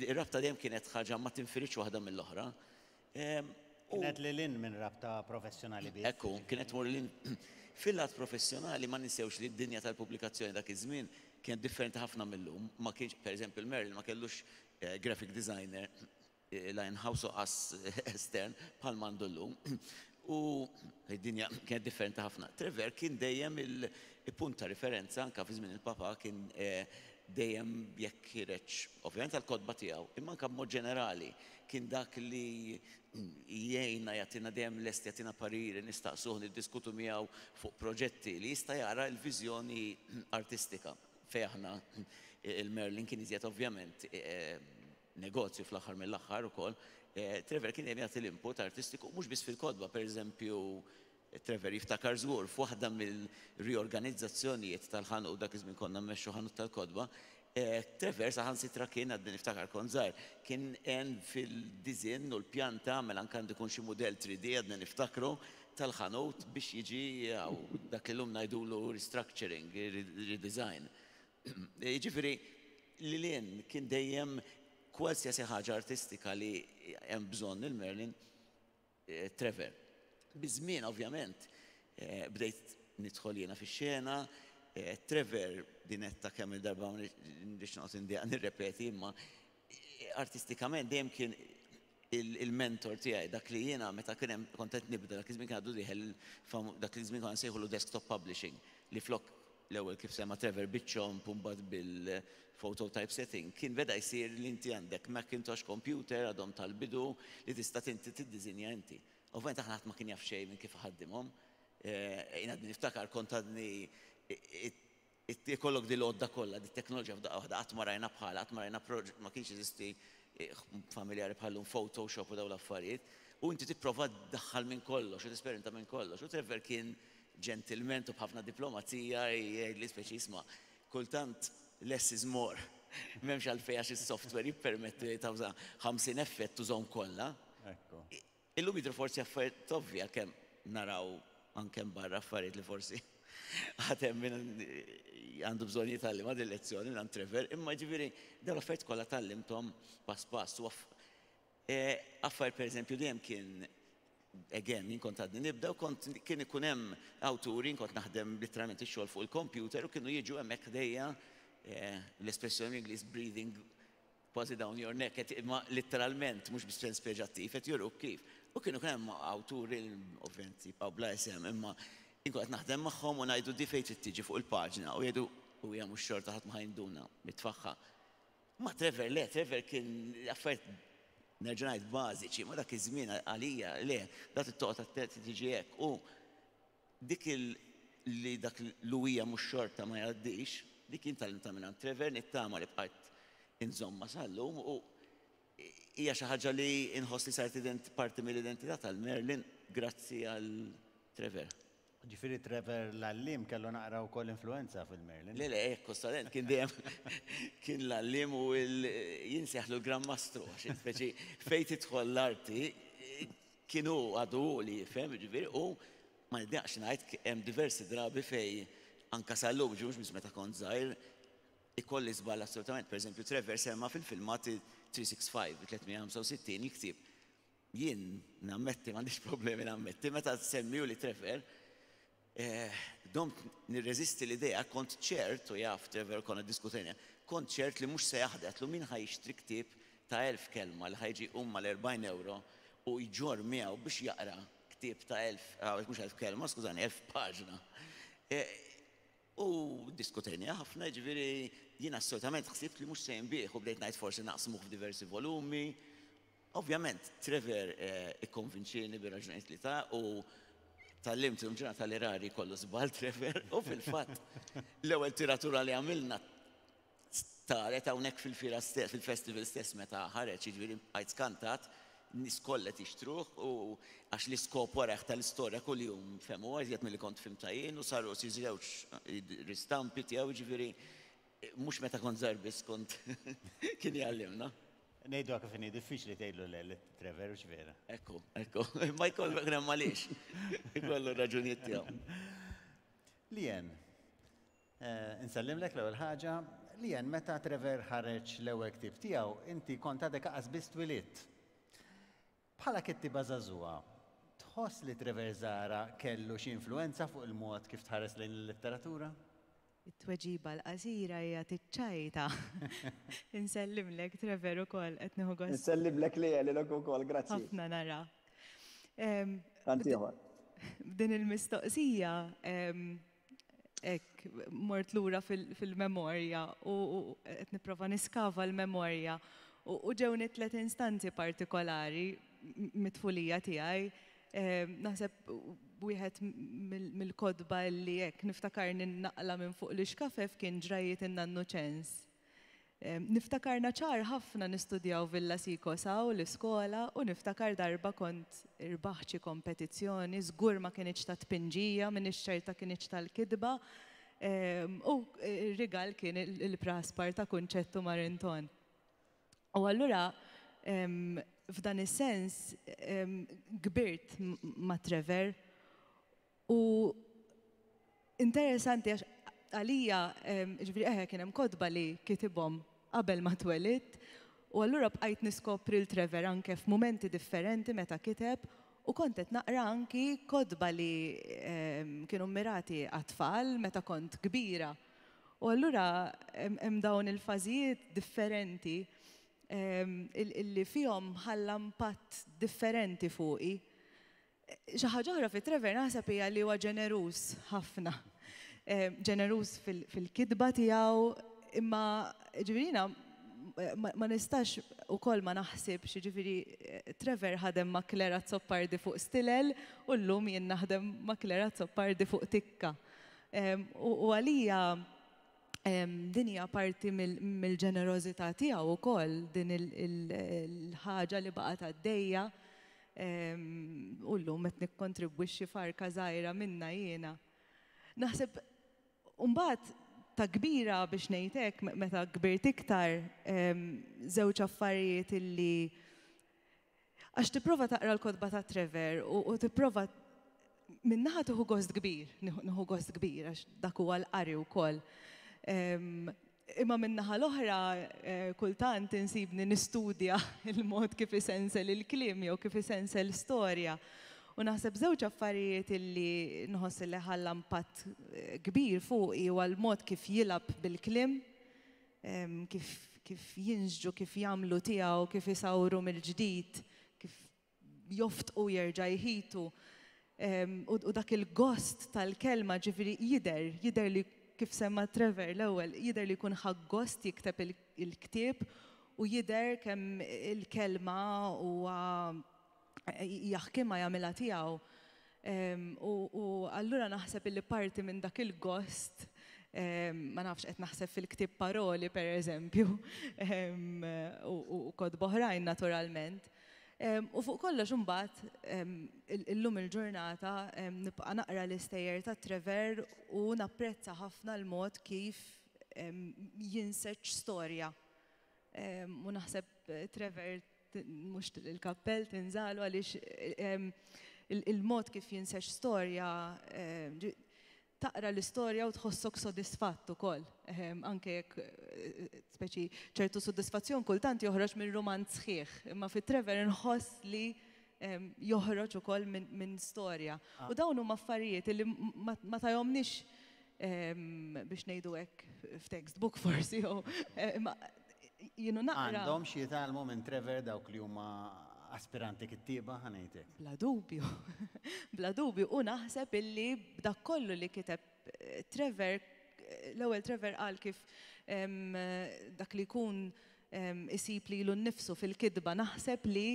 ir-rabta dejjem kienet ħaġa ma tinfiridx waħda mill-oħra. Kienet lil hinn minn rabta professjonali biss. Ekku, kienet tmur lil hinn. Fil-lat professjonali ma ninsewx li d-dinja tal-pubblikazzjoni dak iż-żmien kienet differenti ħafna mil-lum. Ma kienx, pereżempju, il-Merlin ma kellux graphic designer la in-house u qas estern bħal m'għandu llum. U d-dinja kienet differenti ħafna. Trevor kien dejjem il-punt ta' riferenza anke fi żmien il-Papa kien dejjem jekk ħireġ ovvjament għall-kotba tiegħu, imma anke b'mod ġenerali kien dak li jgħinna jagħtina dejjem lest jagħtina pariri, nistaqsuh, niddiskutu miegħu fuq proġetti li jista' jara l-viżjoni artistika fejn aħna il-Merlin kien iżjed ovvjament negozju fl-aħħar mill-aħħar ukoll, Trevor kien dejjem jagħti l-input artistiku mhux biss fil-kotba, pereżempju Trevor jiftakar żgur f'waħda mill-riorganizzazzjonijiet tal-ħanut, dak iż-żmien konna mmexxu ħanut tal-kotba, Trevor saħansitra kien, għadni niftakar kont żgħir, kien għen fil-diżinn u l-pjanta, għamel anke għandu jkun xi mudell 3D għadni niftakru, tal-ħanut biex jiġi dak li llum ngħidulu restructuring, redesign. Jiġifieri, Lil hinn kien dejjem kwalsiasi ħaġa artistika li hemm bżonn il-Merlin, Trevor. Biż-żmien ovvjament bdejt nidħol jiena fix-xena, Trevor din għedtha kemm-il darba ma nridx noqgħod indejjaq nirrepeti imma artistikament dejjem kien il-mentor tiegħi, dak li jiena meta kien hemm kont qed nibda dak iż-żmien kien għadu dieħel dak iż-żmien konna nsejħulu desktop publishing li flok l-ewwel kif semma Trevor biċ-ċomp u mbagħad bil-photo typesetting, kien beda jsir li inti għandek Macintosh computer għadhom tal-bidu li tista' inti tiddiżinja inti. Ovvjament aħna ħadd ma kien jaf xejn minn kif iħaddimhom. Jien għadni niftakar kont għadni ikollok din l-għodda kollha, din it-teknoloġija f'daqqa waħda qatt ma rajna bħalha, qatt ma rajna ma kienx jeżisti familjari bħal-lum Photoshop u dawn l-affarijiet, u inti tipprova ddaħħal minn kollox u tesperimenta minn kollox. U Trevor kien ġentilment u b'ħafna diplomazija jgħidli speċi isma' kultant less is more. M'hemmx għalfejn għax is-software jippermetti li tawża 50 effett tużahom kollha. Illum jidhru forsi affarijiet ovvji għalkemm naraw anke hemm barra affarijiet li forsi għad hemm min għandu bżonn jitgħallimha din lezzjoni minn Trevor, imma jiġifieri dawn l-affarijiet kollha tgħallimthom pass pass. U affarijiet pereżempju dejjem kien again, jien kont għadni nibda u kont kien ikun hemm awturi, jien kont naħdem literalment ix-xogħol fuq il-computer u kienu jiġu hemmhekk ħdejja l-espressjoni bl-Ingliż breathing kważi down your neck, qed imma litteralment mhux bis-sens peġattiv, qed juruk kif. U kienu kien hemm awturi ovvjament jibqgħu bla isem, imma jien kont qed naħdem magħhom u ngħidu di fejn trid tiġi fuq il-paġna u jgħidu u hija mhux xorta ħadd ma ħa jinduna mitfagħha. Ma Trevor le, Trevor kien affarijiet nerġa' ngħid bażiċi, ma dak iż-żmien għalija le, da trid toqgħod attent tiġi hekk. U dik il li dak l-uwija mhux xorta ma jgħaddix, dik jien tgħallimtha mingħand Trevor, nittama li bqajt inżommha sal-lum u hija xi ħaġa li inħoss li saret parti mill-identità tal-Merlin grazzi għal Trevor. Ġifieri Trevor l-għalliem kellu naqra wkoll influwenza fil-Merlin. Le, le, hekk kostament, kien dejjem kien l-għalliem u jien nsejjaħlu l-Gran Mastru għax speċi fejn tidħol l-arti kien hu għadu hu li jifhem, jiġifieri, u ma nidnaqx ngħid hemm diversi drabi fejn anke sal-lum, ġifieri mhux biss meta kont żgħir, ikolli żball assolutament. Pereżempju Trevor semma fil-filmat 365, 365, il-ktieb. Jien nammetti, m'għandix problemi nammetti, meta semmihuli Trevor, domt nirreżisti l-idea, kont ċert, u jaf Trevor konna ddiskutejna, kont ċert li mhux se jaħdem, għedtlu min ħa jixtri ktieb ta' 1000 kelma li ħa jiġi jqum mal-40 ewro u jġorr miegħu biex jaqra ktieb ta' 1000, mhux 1000 kelma, skużani, 1000 paġna. U ddiskutejniha ħafna, jiġifieri jien assolutament ħsibt li mhux se jinbiegħ u bdejt ngħid forsi naqsmuh f'diversi volumi. Ovvjament, Trevor ikkonvinċieni bir-raġunijiet li ta u tgħallimt illum ġurnata li rari jkollu żball Trevor u fil-fatt l-ewwel tiratura li għamilna taret hawnhekk fil-fiera stess, fil-festival stess meta ħareġ, jiġifieri bqajt skantat, n-nies kollha qed jixtruh u għax l-iskop warajh tal-istorja kuljum fehmuha iżjed milli kont fhimtha jien u saru xi żewġ ristampi tiegħu, jiġifieri mhux meta kont żgħir biss kont kien jgħallimna. Ngħiduha kif inhi, diffiċli tgħidlu le lil Trevor, hux vera? Ekku, ekku. Imma jkollu kien hemm għaliex. Ikollu r-raġunijiet tiegħu. Lien, insellimlek l-ewwel ħaġa. Lien, meta Trevor ħareġ l-ewwel ktieb tiegħu, inti kont għadek aqas biss twilidt. Bħala kittieba żagħżugħa, tħoss li Trevor Zahra kellu xi influwenza fuq il-mod kif tħares lejn il-letteratura? It-tweġiba l-qasira hija tiċċajta. Insellimlek Trevor ukoll qed nieħu gost. Insellimlek Lea lilek ukoll, grazzi. Ħafna narak. Tant ieħor. B'din il-mistoqsija hekk mort lura fil-memorja u qed nipprova niskava l-memorja u ġewni tliet instanzi partikolari mit-tfulija tiegħi Naħseb wieħed mill-kotba li hekk niftakarni naqla' minn fuq l-ixkafef kien Ġrajjiet in-Nannu Ċens. Niftakarna ċar ħafna nistudjaw Villa Sikos hawn l-iskola u niftakar darba kont irbaħt xi kompetizzjoni, żgur ma kinitx ta' tpinġija, m'iniex ċerta kinitx tal-kitba, u r-rigal kien il-praspar ta' Kunċett u Marinton. U allura f'dan is-sens kbirt ma' Trevor u interessanti għax għalija, ġifieri eħe kien hemm kotba li kitibhom. qabel ma twelidt u allura bqajt niskopri 'l Trevor anke f'mumenti differenti meta kiteb u kont qed naqra anki kotba li kienu mmirati għat-tfal meta kont kbira. U allura hemm dawn il-fażijiet differenti illi fihom ħalla impatt differenti fuqi. Xi ħaġa oħra fi Trevor naħseb hija li huwa ġeneruż ħafna. Ġeneruż fil-kitba tiegħu, imma ġifieri jiena ma nistax ukoll ma naħsibx, jiġifieri Trevor ħadem ma' Claire Azzopardi fuq Stilel u llum jien naħdem ma' Claire Azzopardi fuq Tikka. U għalija din hija parti mill-ġenerożità tiegħu wkoll, din il-ħaġa li baqgħet għaddejja u llum qed nikkontribwixxi f'arka żgħira minnha jiena. Naħseb mbagħad ta' kbira biex ngħid hekk, meta kbirt iktar, żewġ affarijiet illi Għax tipprova taqra l-kotba ta' Trevor u tipprova minn naħa tieħu gost kbir, nieħu gost kbir għax dak huwa l-qari wkoll. Imma minn naħa l-oħra kultant insibni nistudja l-mod kif isensel il-kliem jew kif isensel storja. U naħseb żewġ affarijiet illi nħoss li ħalla impatt kbir fuqi huwa l-mod kif jilgħab bil-kliem kif kif jinsġu, kif jagħmlu tiegħu, kif isawru mill-ġdid, kif joftqu jerġa' jħitu. U dak il-gost tal-kelma ġifieri jidher, jidher li kif semma Trevor l-ewwel, jidher li jkun ħa gost jikteb il-ktieb u jidher kemm il-kelma huwa jaħkimha jagħmilha tiegħu. U allura naħseb illi parti minn dak il-gost, ma nafx qed naħseb fil-ktieb Paroli per eżempju, u kotba oħrajn naturalment. U fuq kollox imbagħad illum il-ġurnata nibqa' naqra l-istejjer ta' Trevor u napprezza ħafna l-mod kif jinseġ storja. U naħseb Trevor mhux il-kappell tinżalu għaliex il-mod kif jinsex storja taqra l-istorja u tħossok sodisfatt ukoll. Anke jekk speċi ċertu sodisfazzjon kultant joħroġ minn rumanz sħiħ, imma fi Trevor inħoss li joħroġ ukoll minn storja. U dawn huma affarijiet li ma tajomniex biex ngħidu hekk f'textbook forsi jew imma jienu naqra. Għandhom xi jitgħallmu minn Trevor dawk li huma aspiranti kittieba ħa ngħid hekk. Bla dubju. Bla dubju u naħseb illi b'dak kollu li kiteb Trevor, l-ewwel Trevor qal kif dak li jkun isib lilu nnifsu fil-kitba, naħseb li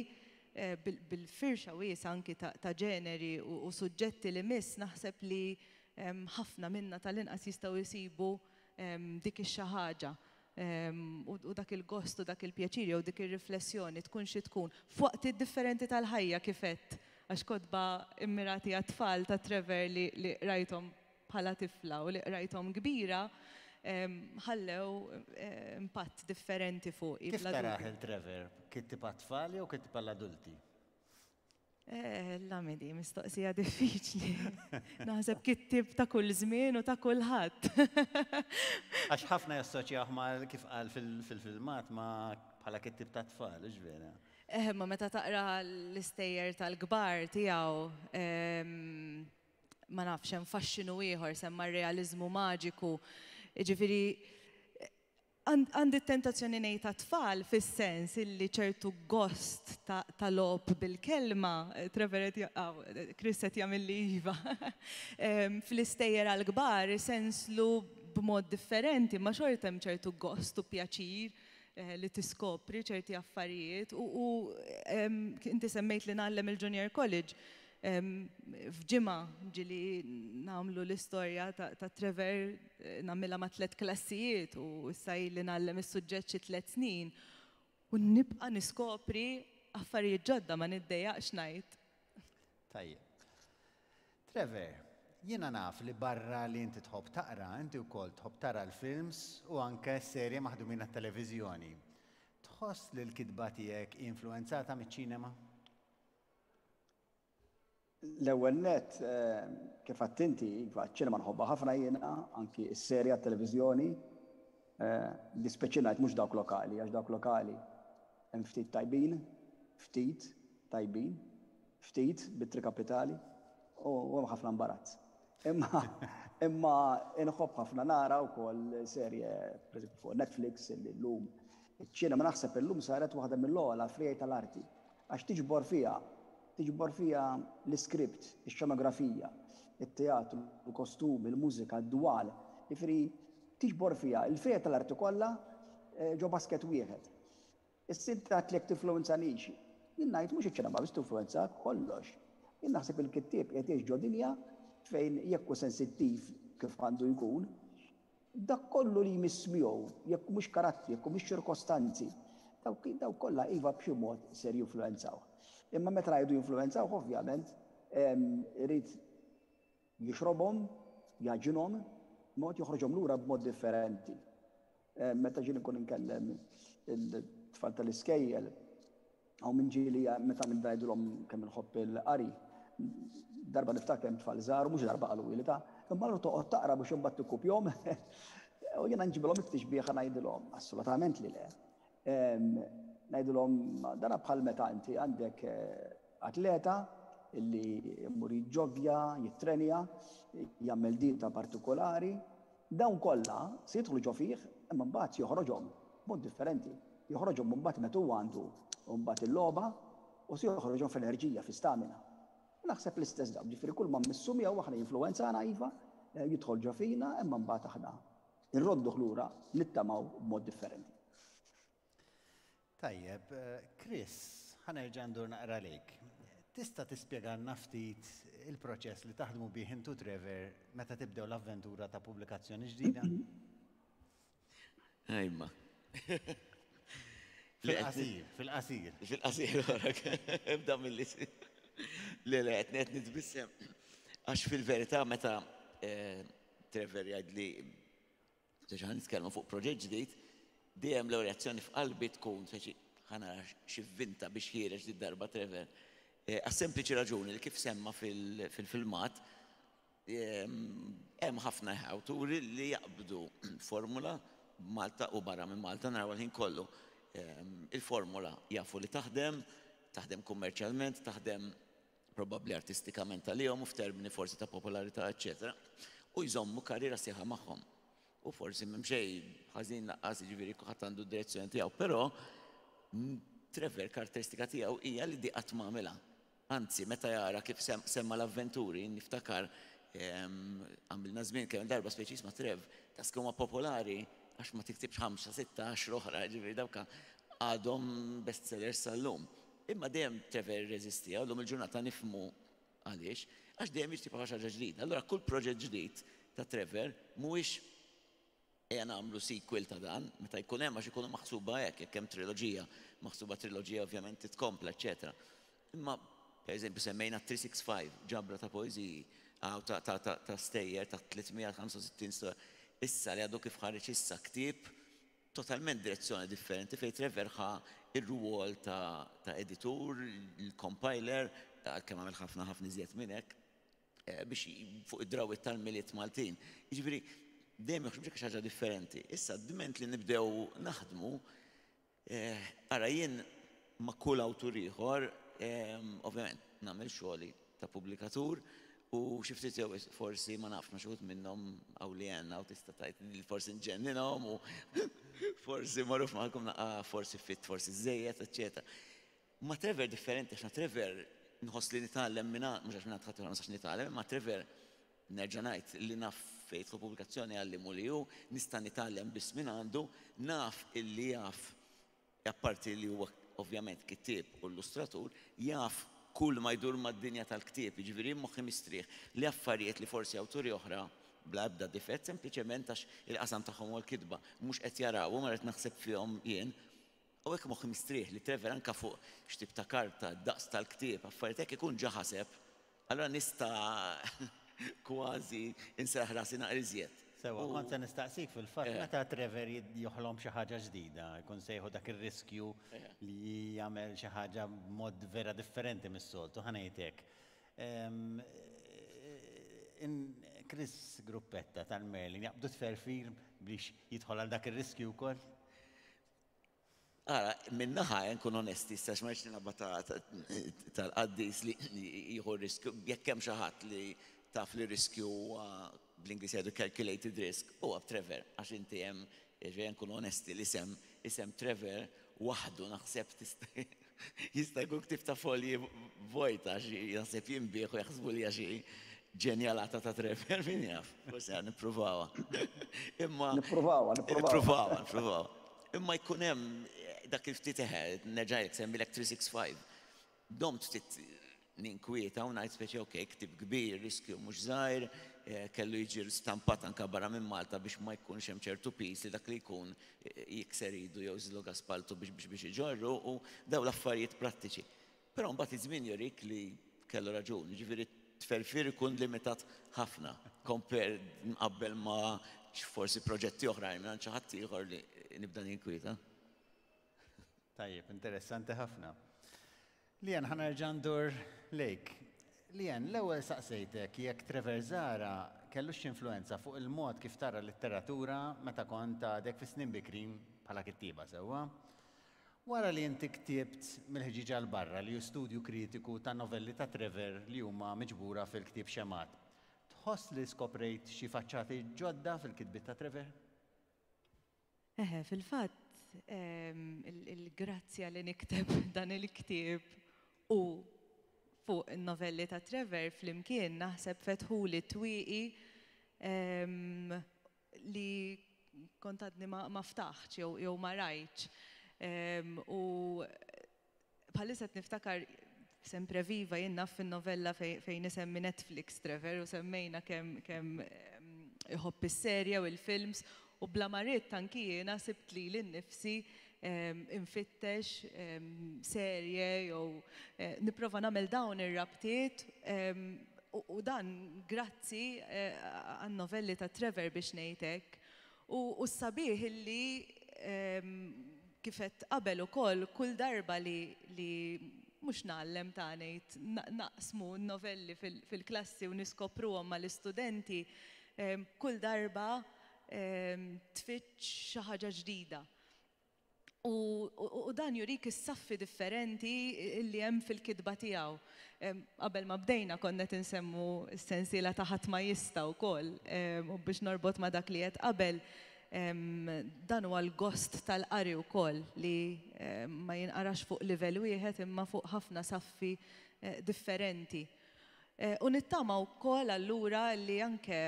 bil-firxa wiesgħa anki ta' ġeneri u suġġetti li miss, naħseb li ħafna minna tal-inqas jistgħu jsibu dik ix-xi ħaġa u dak il-gost u dak il-pjaċir jew dik ir-riflessjoni tkun xi tkun f'waqtiet differenti tal-ħajja kif għedt għax kotba mmirati għat-tfal ta' Trevor li qrajthom bħala tifla u li qrajthom kbira ħallew impatt differenti fuqi. Kif tarah il-Trevor? Kittieb għat-tfal jew kittieb għall-adulti? Eh, Lamidi, mistoqsija diffiċli. Naħseb kittieb ta' kull żmien u ta' kulħadd. Għax ħafna jassoċjah ma' kif qal fil-filmat ma' bħala kittieb ta' tfal, hux vera? Eh, ma meta taqra l-istejjer tal-kbar tiegħu, ma nafx hemm faxxinu ieħor semma r-realiżmu maġiku. Jiġifieri Għandi t-tentazzjoni ngħid għat-tfal fis-sens illi ċertu gost ta' logħob bil-kelma, Trevor qed Chris qed jagħmilli iva, fl-istejjer għall-kbar isenslu b'mod differenti, imma xorta hemm ċertu gost u pjaċir li tiskopri ċerti affarijiet u inti semmejt li ngħallem il-Junior College. F'ġimgħa ġieli nagħmlu l-istorja ta' Trevor nagħmilha ma' tlett klassijiet u issa ili ngħallem is-suġġett xi tlett snin u nibqa' niskopri affarijiet ġodda ma niddejjaqx ngħid. Tajjeb. Trevor, jiena naf li barra li inti tħobb taqra, inti wkoll tħobb tara l-films u anke serje maħdumin għat-televiżjoni. Tħoss li l-kitba tiegħek hi influwenzata miċ-ċinema? L-ewwel nett, kif għedt inti, iva, ċ-ċinema nħobbha ħafna jiena, anki s-serje għat-televiżjoni. Dispjaċini ngħid mhux dawk lokali, għax dawk lokali hemm ftit tajbin, ftit tajbin, ftit b'ittri kapitali u hemm ħafna imbarazz. Imma imma inħobb ħafna nara wkoll serje pereżempju fuq Netflix li llum iċ-ċinema naħseb illum saret waħda mill-ogħla friegħi tal-arti għax tiġbor fiha tiġbor fiha l-iskript, ix-xenografija, it-teatru, il-kostumi, il-mużika, d-dwal, jiġifieri tiġbor fiha l-friegħi tal-arti kollha ġo basket wieħed. Issa inti għedt li jekk tinfluwenzanix. Jien ngħid mhux iċ-ċinema biss tinfluwenzak, kollox. Jien naħseb il-kittieb qiegħed jgħix ġo dinja fejn jekk hu sensittiv kif għandu jkun, dak kollu li jmiss miegħu, jekk mhux karattri, jekk mhux ċirkostanzi, dawk dawk kollha iva b'xi mod ser jinfluwenzawh. Imma meta ngħidu jinfluwenzawh ovvjament irid jixrobhom, jagħġinhom, mod joħroġhom lura b'mod differenti. Meta ġieli nkun inkellem il-tfal tal-iskejjel, hawn min ġieli meta nibda ngħidilhom kemm inħobb il-qari, darba niftakar hemm tfal żgħar, mhux darba qalu li ta' imma allura toqgħod taqra biex imbagħad tikkupjhom. U jiena nġibilhom it-tixbieha ngħidilhom, assolutament li le. Ngħidilhom dana bħal meta inti għandek atleta li jmur jiġġoggja, jittrenja, jagħmel dieta partikolari, Dawn kollha se jidħlu ġo fih imma mbagħad joħroġhom b'mod differenti. Joħroġhom mbagħad meta huwa għandu mbagħad il-logħba u se joħroġhom f'enerġija, fi stamina. U naħseb l-istess dawn, ġifieri kull ma mmissu miegħu aħna jinfluwenzana iva, jidħol ġo fina imma mbagħad aħna nrodduh lura nittamaw b'mod differenti. Tajjeb, Chris, ħa nerġa' ndur naqra lejk. Tista' tispjegalna ftit il-proċess li taħdmu bih int u Trevor meta tibdew l-avventura ta' pubblikazzjoni ġdida? Ejma. Fil-qasir, fil-qasir. Fil-qasir, ibda mill-li. Le, le, qed nitbissem. Għax fil-verità meta eh, Trevor jgħidli Speċi ħa nitkellmu fuq proġett ġdid, dejjem l-ewwel reazzjoni f'qalbi tkun speċi ħa nara x'ivvinta biex ħiereġ did-darba Trevor. Eh, għas-sempliċi raġuni li kif semma fil-filmat, hemm ħafna awturi li jaqbdu formula Malta u barra minn Malta naraw il-ħin kollu. Il-formula jafu li taħdem, taħdem kummerċjalment, taħdem probabbli artistikament għalihom u f'termini forsi ta' popolarità, eċċetera, u jżommu karriera sħiħa magħhom. U forsi m'hemm xejn ħażin lanqas, jiġifieri kulħadd għandu d-direzzjoni tiegħu, però Trevor karatteristika tiegħu hija li di qatt ma għamilha. Anzi, meta jara kif semma l-avventuri, niftakar għamilna żmien kemm darba speċi jisma' Trev, tas huma popolari għax ma tiktibx ħamsa, sitta, għaxra oħra, ġifieri dawk għadhom bestsellers sal-lum. Imma dejjem Trevor irreżistiha, u llum il-ġurnata nifhmu għaliex, għax dejjem jixtieq xi ħaġa ġdida. Allura kull proġett ġdid ta' Trevor mhuwiex ejja nagħmlu sequel ta' dan, meta jkun hemm għax ikunu maħsuba hekk, jekk hemm triloġija, maħsuba triloġija ovvjament titkompla, eċċetera. Imma pereżempju semmejna 365, ġabra ta' poeżiji, ta' ta' ta' ta' stejjer ta' 365 storja. Issa li għadu kif ħareġ issa ktieb totalment direzzjoni differenti fejn Trevor ħa r-rwol ta' ta' editur, il-compiler, għalkemm għamel ħafna ħafna iżjed minn hekk, biex fuq id-drawwiet tal-Milied Maltin. Jiġifieri dejjem joħroġ b'xi ħaġa differenti. Issa dment li nibdew naħdmu, ara jien ma' kull awtur ieħor, ovvjament nagħmel xogħli ta' pubblikatur u xi ftit jew forsi ma nafx ma' xi wħud minnhom hawn li għenna u tista' tgħid li forsi nġenninhom u forsi magħruf magħkom naqra forsi fit forsi żejjed, eċċetera. Ma' Trevor differenti għax ma' Trevor nħoss li nitgħallem minn mhux għax minn ħadd ieħor ma nistax nitgħallem, imma Trevor nerġa' ngħid li naf fejn jidħol pubblikazzjoni għalliemu li hu, nista' nitgħallem biss minn għandu, naf illi jaf apparti li huwa ovvjament kittieb u illustratur, jaf kull ma jdur mad-dinja tal-ktieb, jiġifieri jien moħħi mistrieħ li affarijiet li forsi awturi oħra bla ebda difett, sempliċement għax il-qasam tagħhom huwa l-kitba, mhux qed jarawhom, allura qed naħseb fihom jien. U hekk moħħi mistrieħ li Trevor anke fuq x'tip ta' karta, d-daqs tal-ktieb, affarijiet hekk ikun ġa ħaseb. Allura nista' kważi nserraħ rasi naqra iżjed. Sewwa, kont se nistaqsik fil-fatt meta Trevor joħlom xi ħaġa ġdida, jkun se jieħu dak ir-riskju li jagħmel xi ħaġa b'mod vera differenti mis-soltu, ħa ngħid hekk. Chris Gruppetta tal-Merlin jaqbdu tferfir biex jidħol għal dak ir-riskju wkoll? Ara, minnaħa nkun onesti, issa ma rridx nilgħabha tal-qaddis li jieħu riskju, jekk hemm xi ħadd li taf li riskju huwa, bl-Ingliż jgħidu calculated risk, huwa Trevor, għax inti hemm, jiġifieri nkunu onesti, l-isem, isem Trevor waħdu naħseb tista' jista' jkun ktieb ta' folji vojta għax naħseb jinbiegħ u jaħsbu li hija xi ġenjalata ta' Trevor, min jaf, forsi għan nippruvawha. Imma. Nippruvawha, nippruvawha. Nippruvawha, nippruvawha. Imma jkun hemm dak il-ftit eħe, nerġa' ngħidlek, semmilek 365. Domt ftit ninkwieta u ngħid speċi ok, ktieb kbir, riskju mhux żgħir, kellu jiġi stampat anke barra minn Malta biex ma jkunx hemm ċertu piż li dak li jkun jikser idu jew jżillu spaltu biex biex iġorru u dawn l-affarijiet prattiċi. Però mbagħad iż-żmien jurik li kellu raġun, jiġifieri tferfir ikun limitat ħafna compare mqabbel ma' forsi proġetti oħrajn minn xi ħadd ieħor li nibda ninkwieta. Tajjeb, interessanti ħafna. Lian, ħa nerġa' ndur lejk. Lian, l-ewwel saqsejtek jekk Trevor Zahra kellux influenza fuq il-mod kif tara letteratura meta kont għadek fi snin bikrin bħala kittieba sewwa. Wara li inti ktibt Mill-Ħġieġa 'l Barra li hu studju kritiku ta' novelli ta' Trevor li huma miġbura fil-ktieb Xemgħat, tħoss li skoprejt xi faċċati ġodda fil-kitbiet ta' Trevor? Eħe, fil-fatt, il-grazzja li nikteb dan il-ktieb u fuq in-novelli ta' Trevor flimkien naħseb fetħuli twieqi li kont għadni ma ftaħtx jew ma rajtx. U bħalissa qed niftakar sempre viva jien naf fin-novella fejn isemmi Netflix Trevor u semmejna kemm iħobb is-serje u l-films u bla ma ridt anki jiena sibt lili nnifsi infittex serje jew nipprova nagħmel dawn ir-rabtiet u dan grazzi għan-novelli ta' Trevor biex ngħid hekk. U s-sabiħ illi kif għedt qabel ukoll kull darba li li mhux ngħallem ta' ngħid naqsmu n-novelli fil-klassi u niskopruhom mal-istudenti, kull darba tfittx xi ħaġa ġdida. U dan jurik is-saffi differenti li hemm fil-kitba tiegħu. Qabel ma bdejna konna qed insemmu s-sensiela ta' Ħadd ma jista' wkoll u biex norbot ma' dak li għedt qabel, dan huwa l-gost tal-qari wkoll li ma jinqarax fuq livell wieħed imma fuq ħafna saffi differenti. U nittama wkoll allura li anke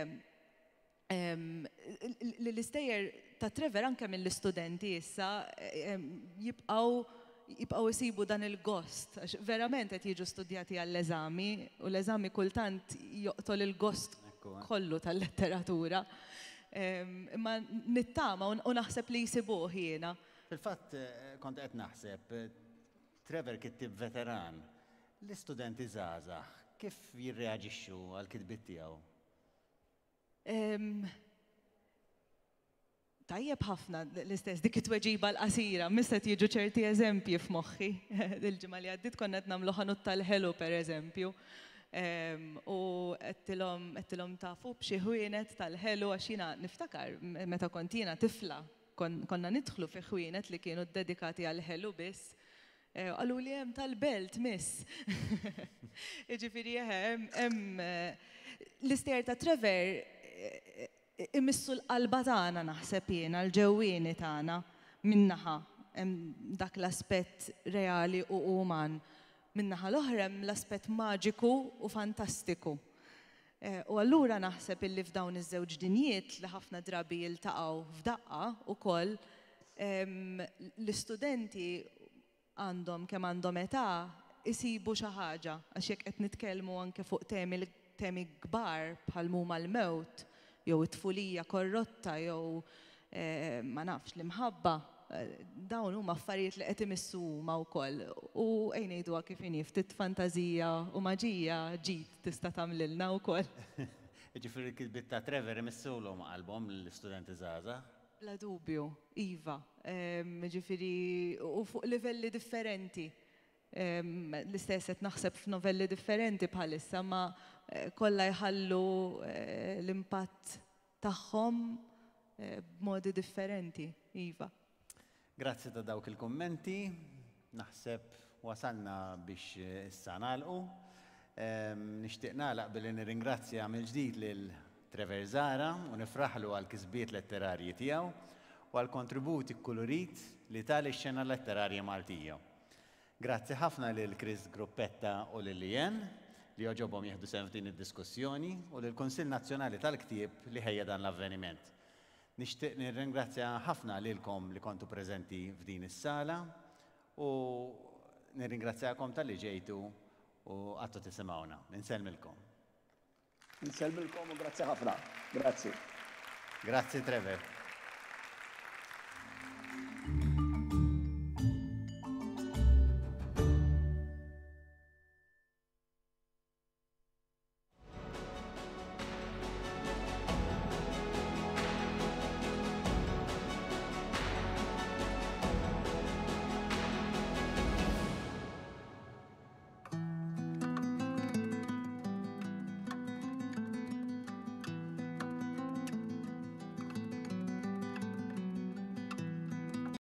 li l-istejjer ta' Trevor anke mill-istudenti issa jibqgħu jibqgħu jsibu dan il-gost għax verament qed jiġu studjati għall-eżami u l-eżami kultant joqtol il-gost kollu tal-letteratura. Imma nittama u naħseb li jsibuh jiena. Fil-fatt kont qed naħseb, Trevor kittieb veteran, l-istudenti żgħażagħ kif jirreaġixxu għall-kitbiet tiegħu? Tajjeb ħafna l-istess dik it-tweġiba l-qasira, miss qed jiġu ċerti eżempji f'moħħi. Il-ġimgħa li għaddiet konna qed nagħmlu ħanut tal-ħelu pereżempju. U għedtilhom għedtilhom tafu b'xi ħwienet tal-ħelu għax jiena niftakar meta kont jiena tifla konna nidħlu fi ħwienet li kienu ddedikati għall-ħelu biss. Qaluli hemm tal-belt, miss. Jiġifieri eħe, hemm l-istejjer ta' Trevor imissu l-qalba tagħna naħseb jiena, l-ġewwieni tagħna minn naħa hemm dak l-aspett reali u uman. Min-naħa l-oħra hemm l-aspett maġiku u fantastiku. U allura naħseb illi f'dawn iż-żewġ dinjiet li ħafna drabi jiltaqgħu f'daqqa wkoll, l-istudenti għandhom kemm għandhom età isibu xi ħaġa għax jekk qed nitkellmu anke fuq temi temi kbar bħal m'huma l-mewt jew it-tfulija korrotta jew ma nafx l-imħabba, dawn huma affarijiet li qed imissu huma wkoll. U ejja ngħiduha kif inhi, ftit fantażija u maġija ġid tista' tagħmlilna wkoll. Jiġifieri l-kitbiet ta' Trevor imissulhom qalbhom lill-istudenti żgħażagħ? Bla dubju, iva. Jiġifieri u fuq livelli differenti. L-istess qed naħseb f'novelli differenti bħalissa, ma kollha jħallu l-impatt tagħhom b'modi differenti, iva. Grazzi ta' dawk il-kummenti. Naħseb wasalna biex issa nagħlqu. Nixtieq nagħlaq billi nirringrazzja mill-ġdid lil Trevor Zahra u nifraħlu għall-kisbiet letterarji tiegħu u għall-kontribut ikkulurit li ta lix-xena letterarja Maltija. Grazzi ħafna lil Chris Gruppetta u lil Leanne li għoġobhom jieħdu sehem f'din id-diskussjoni u lill-Kunsill Nazzjonali tal-Ktieb li ħejja dan l-avveniment. Nixtieq nirringrazzja ħafna lilkom li kontu preżenti f'din is-sala u nirringrazzjakom talli ġejtu u qgħadtu tisimgħuna. Insellmilkom. Insellmilkom u grazzi ħafna. Grazzi. Grazzi Trevor.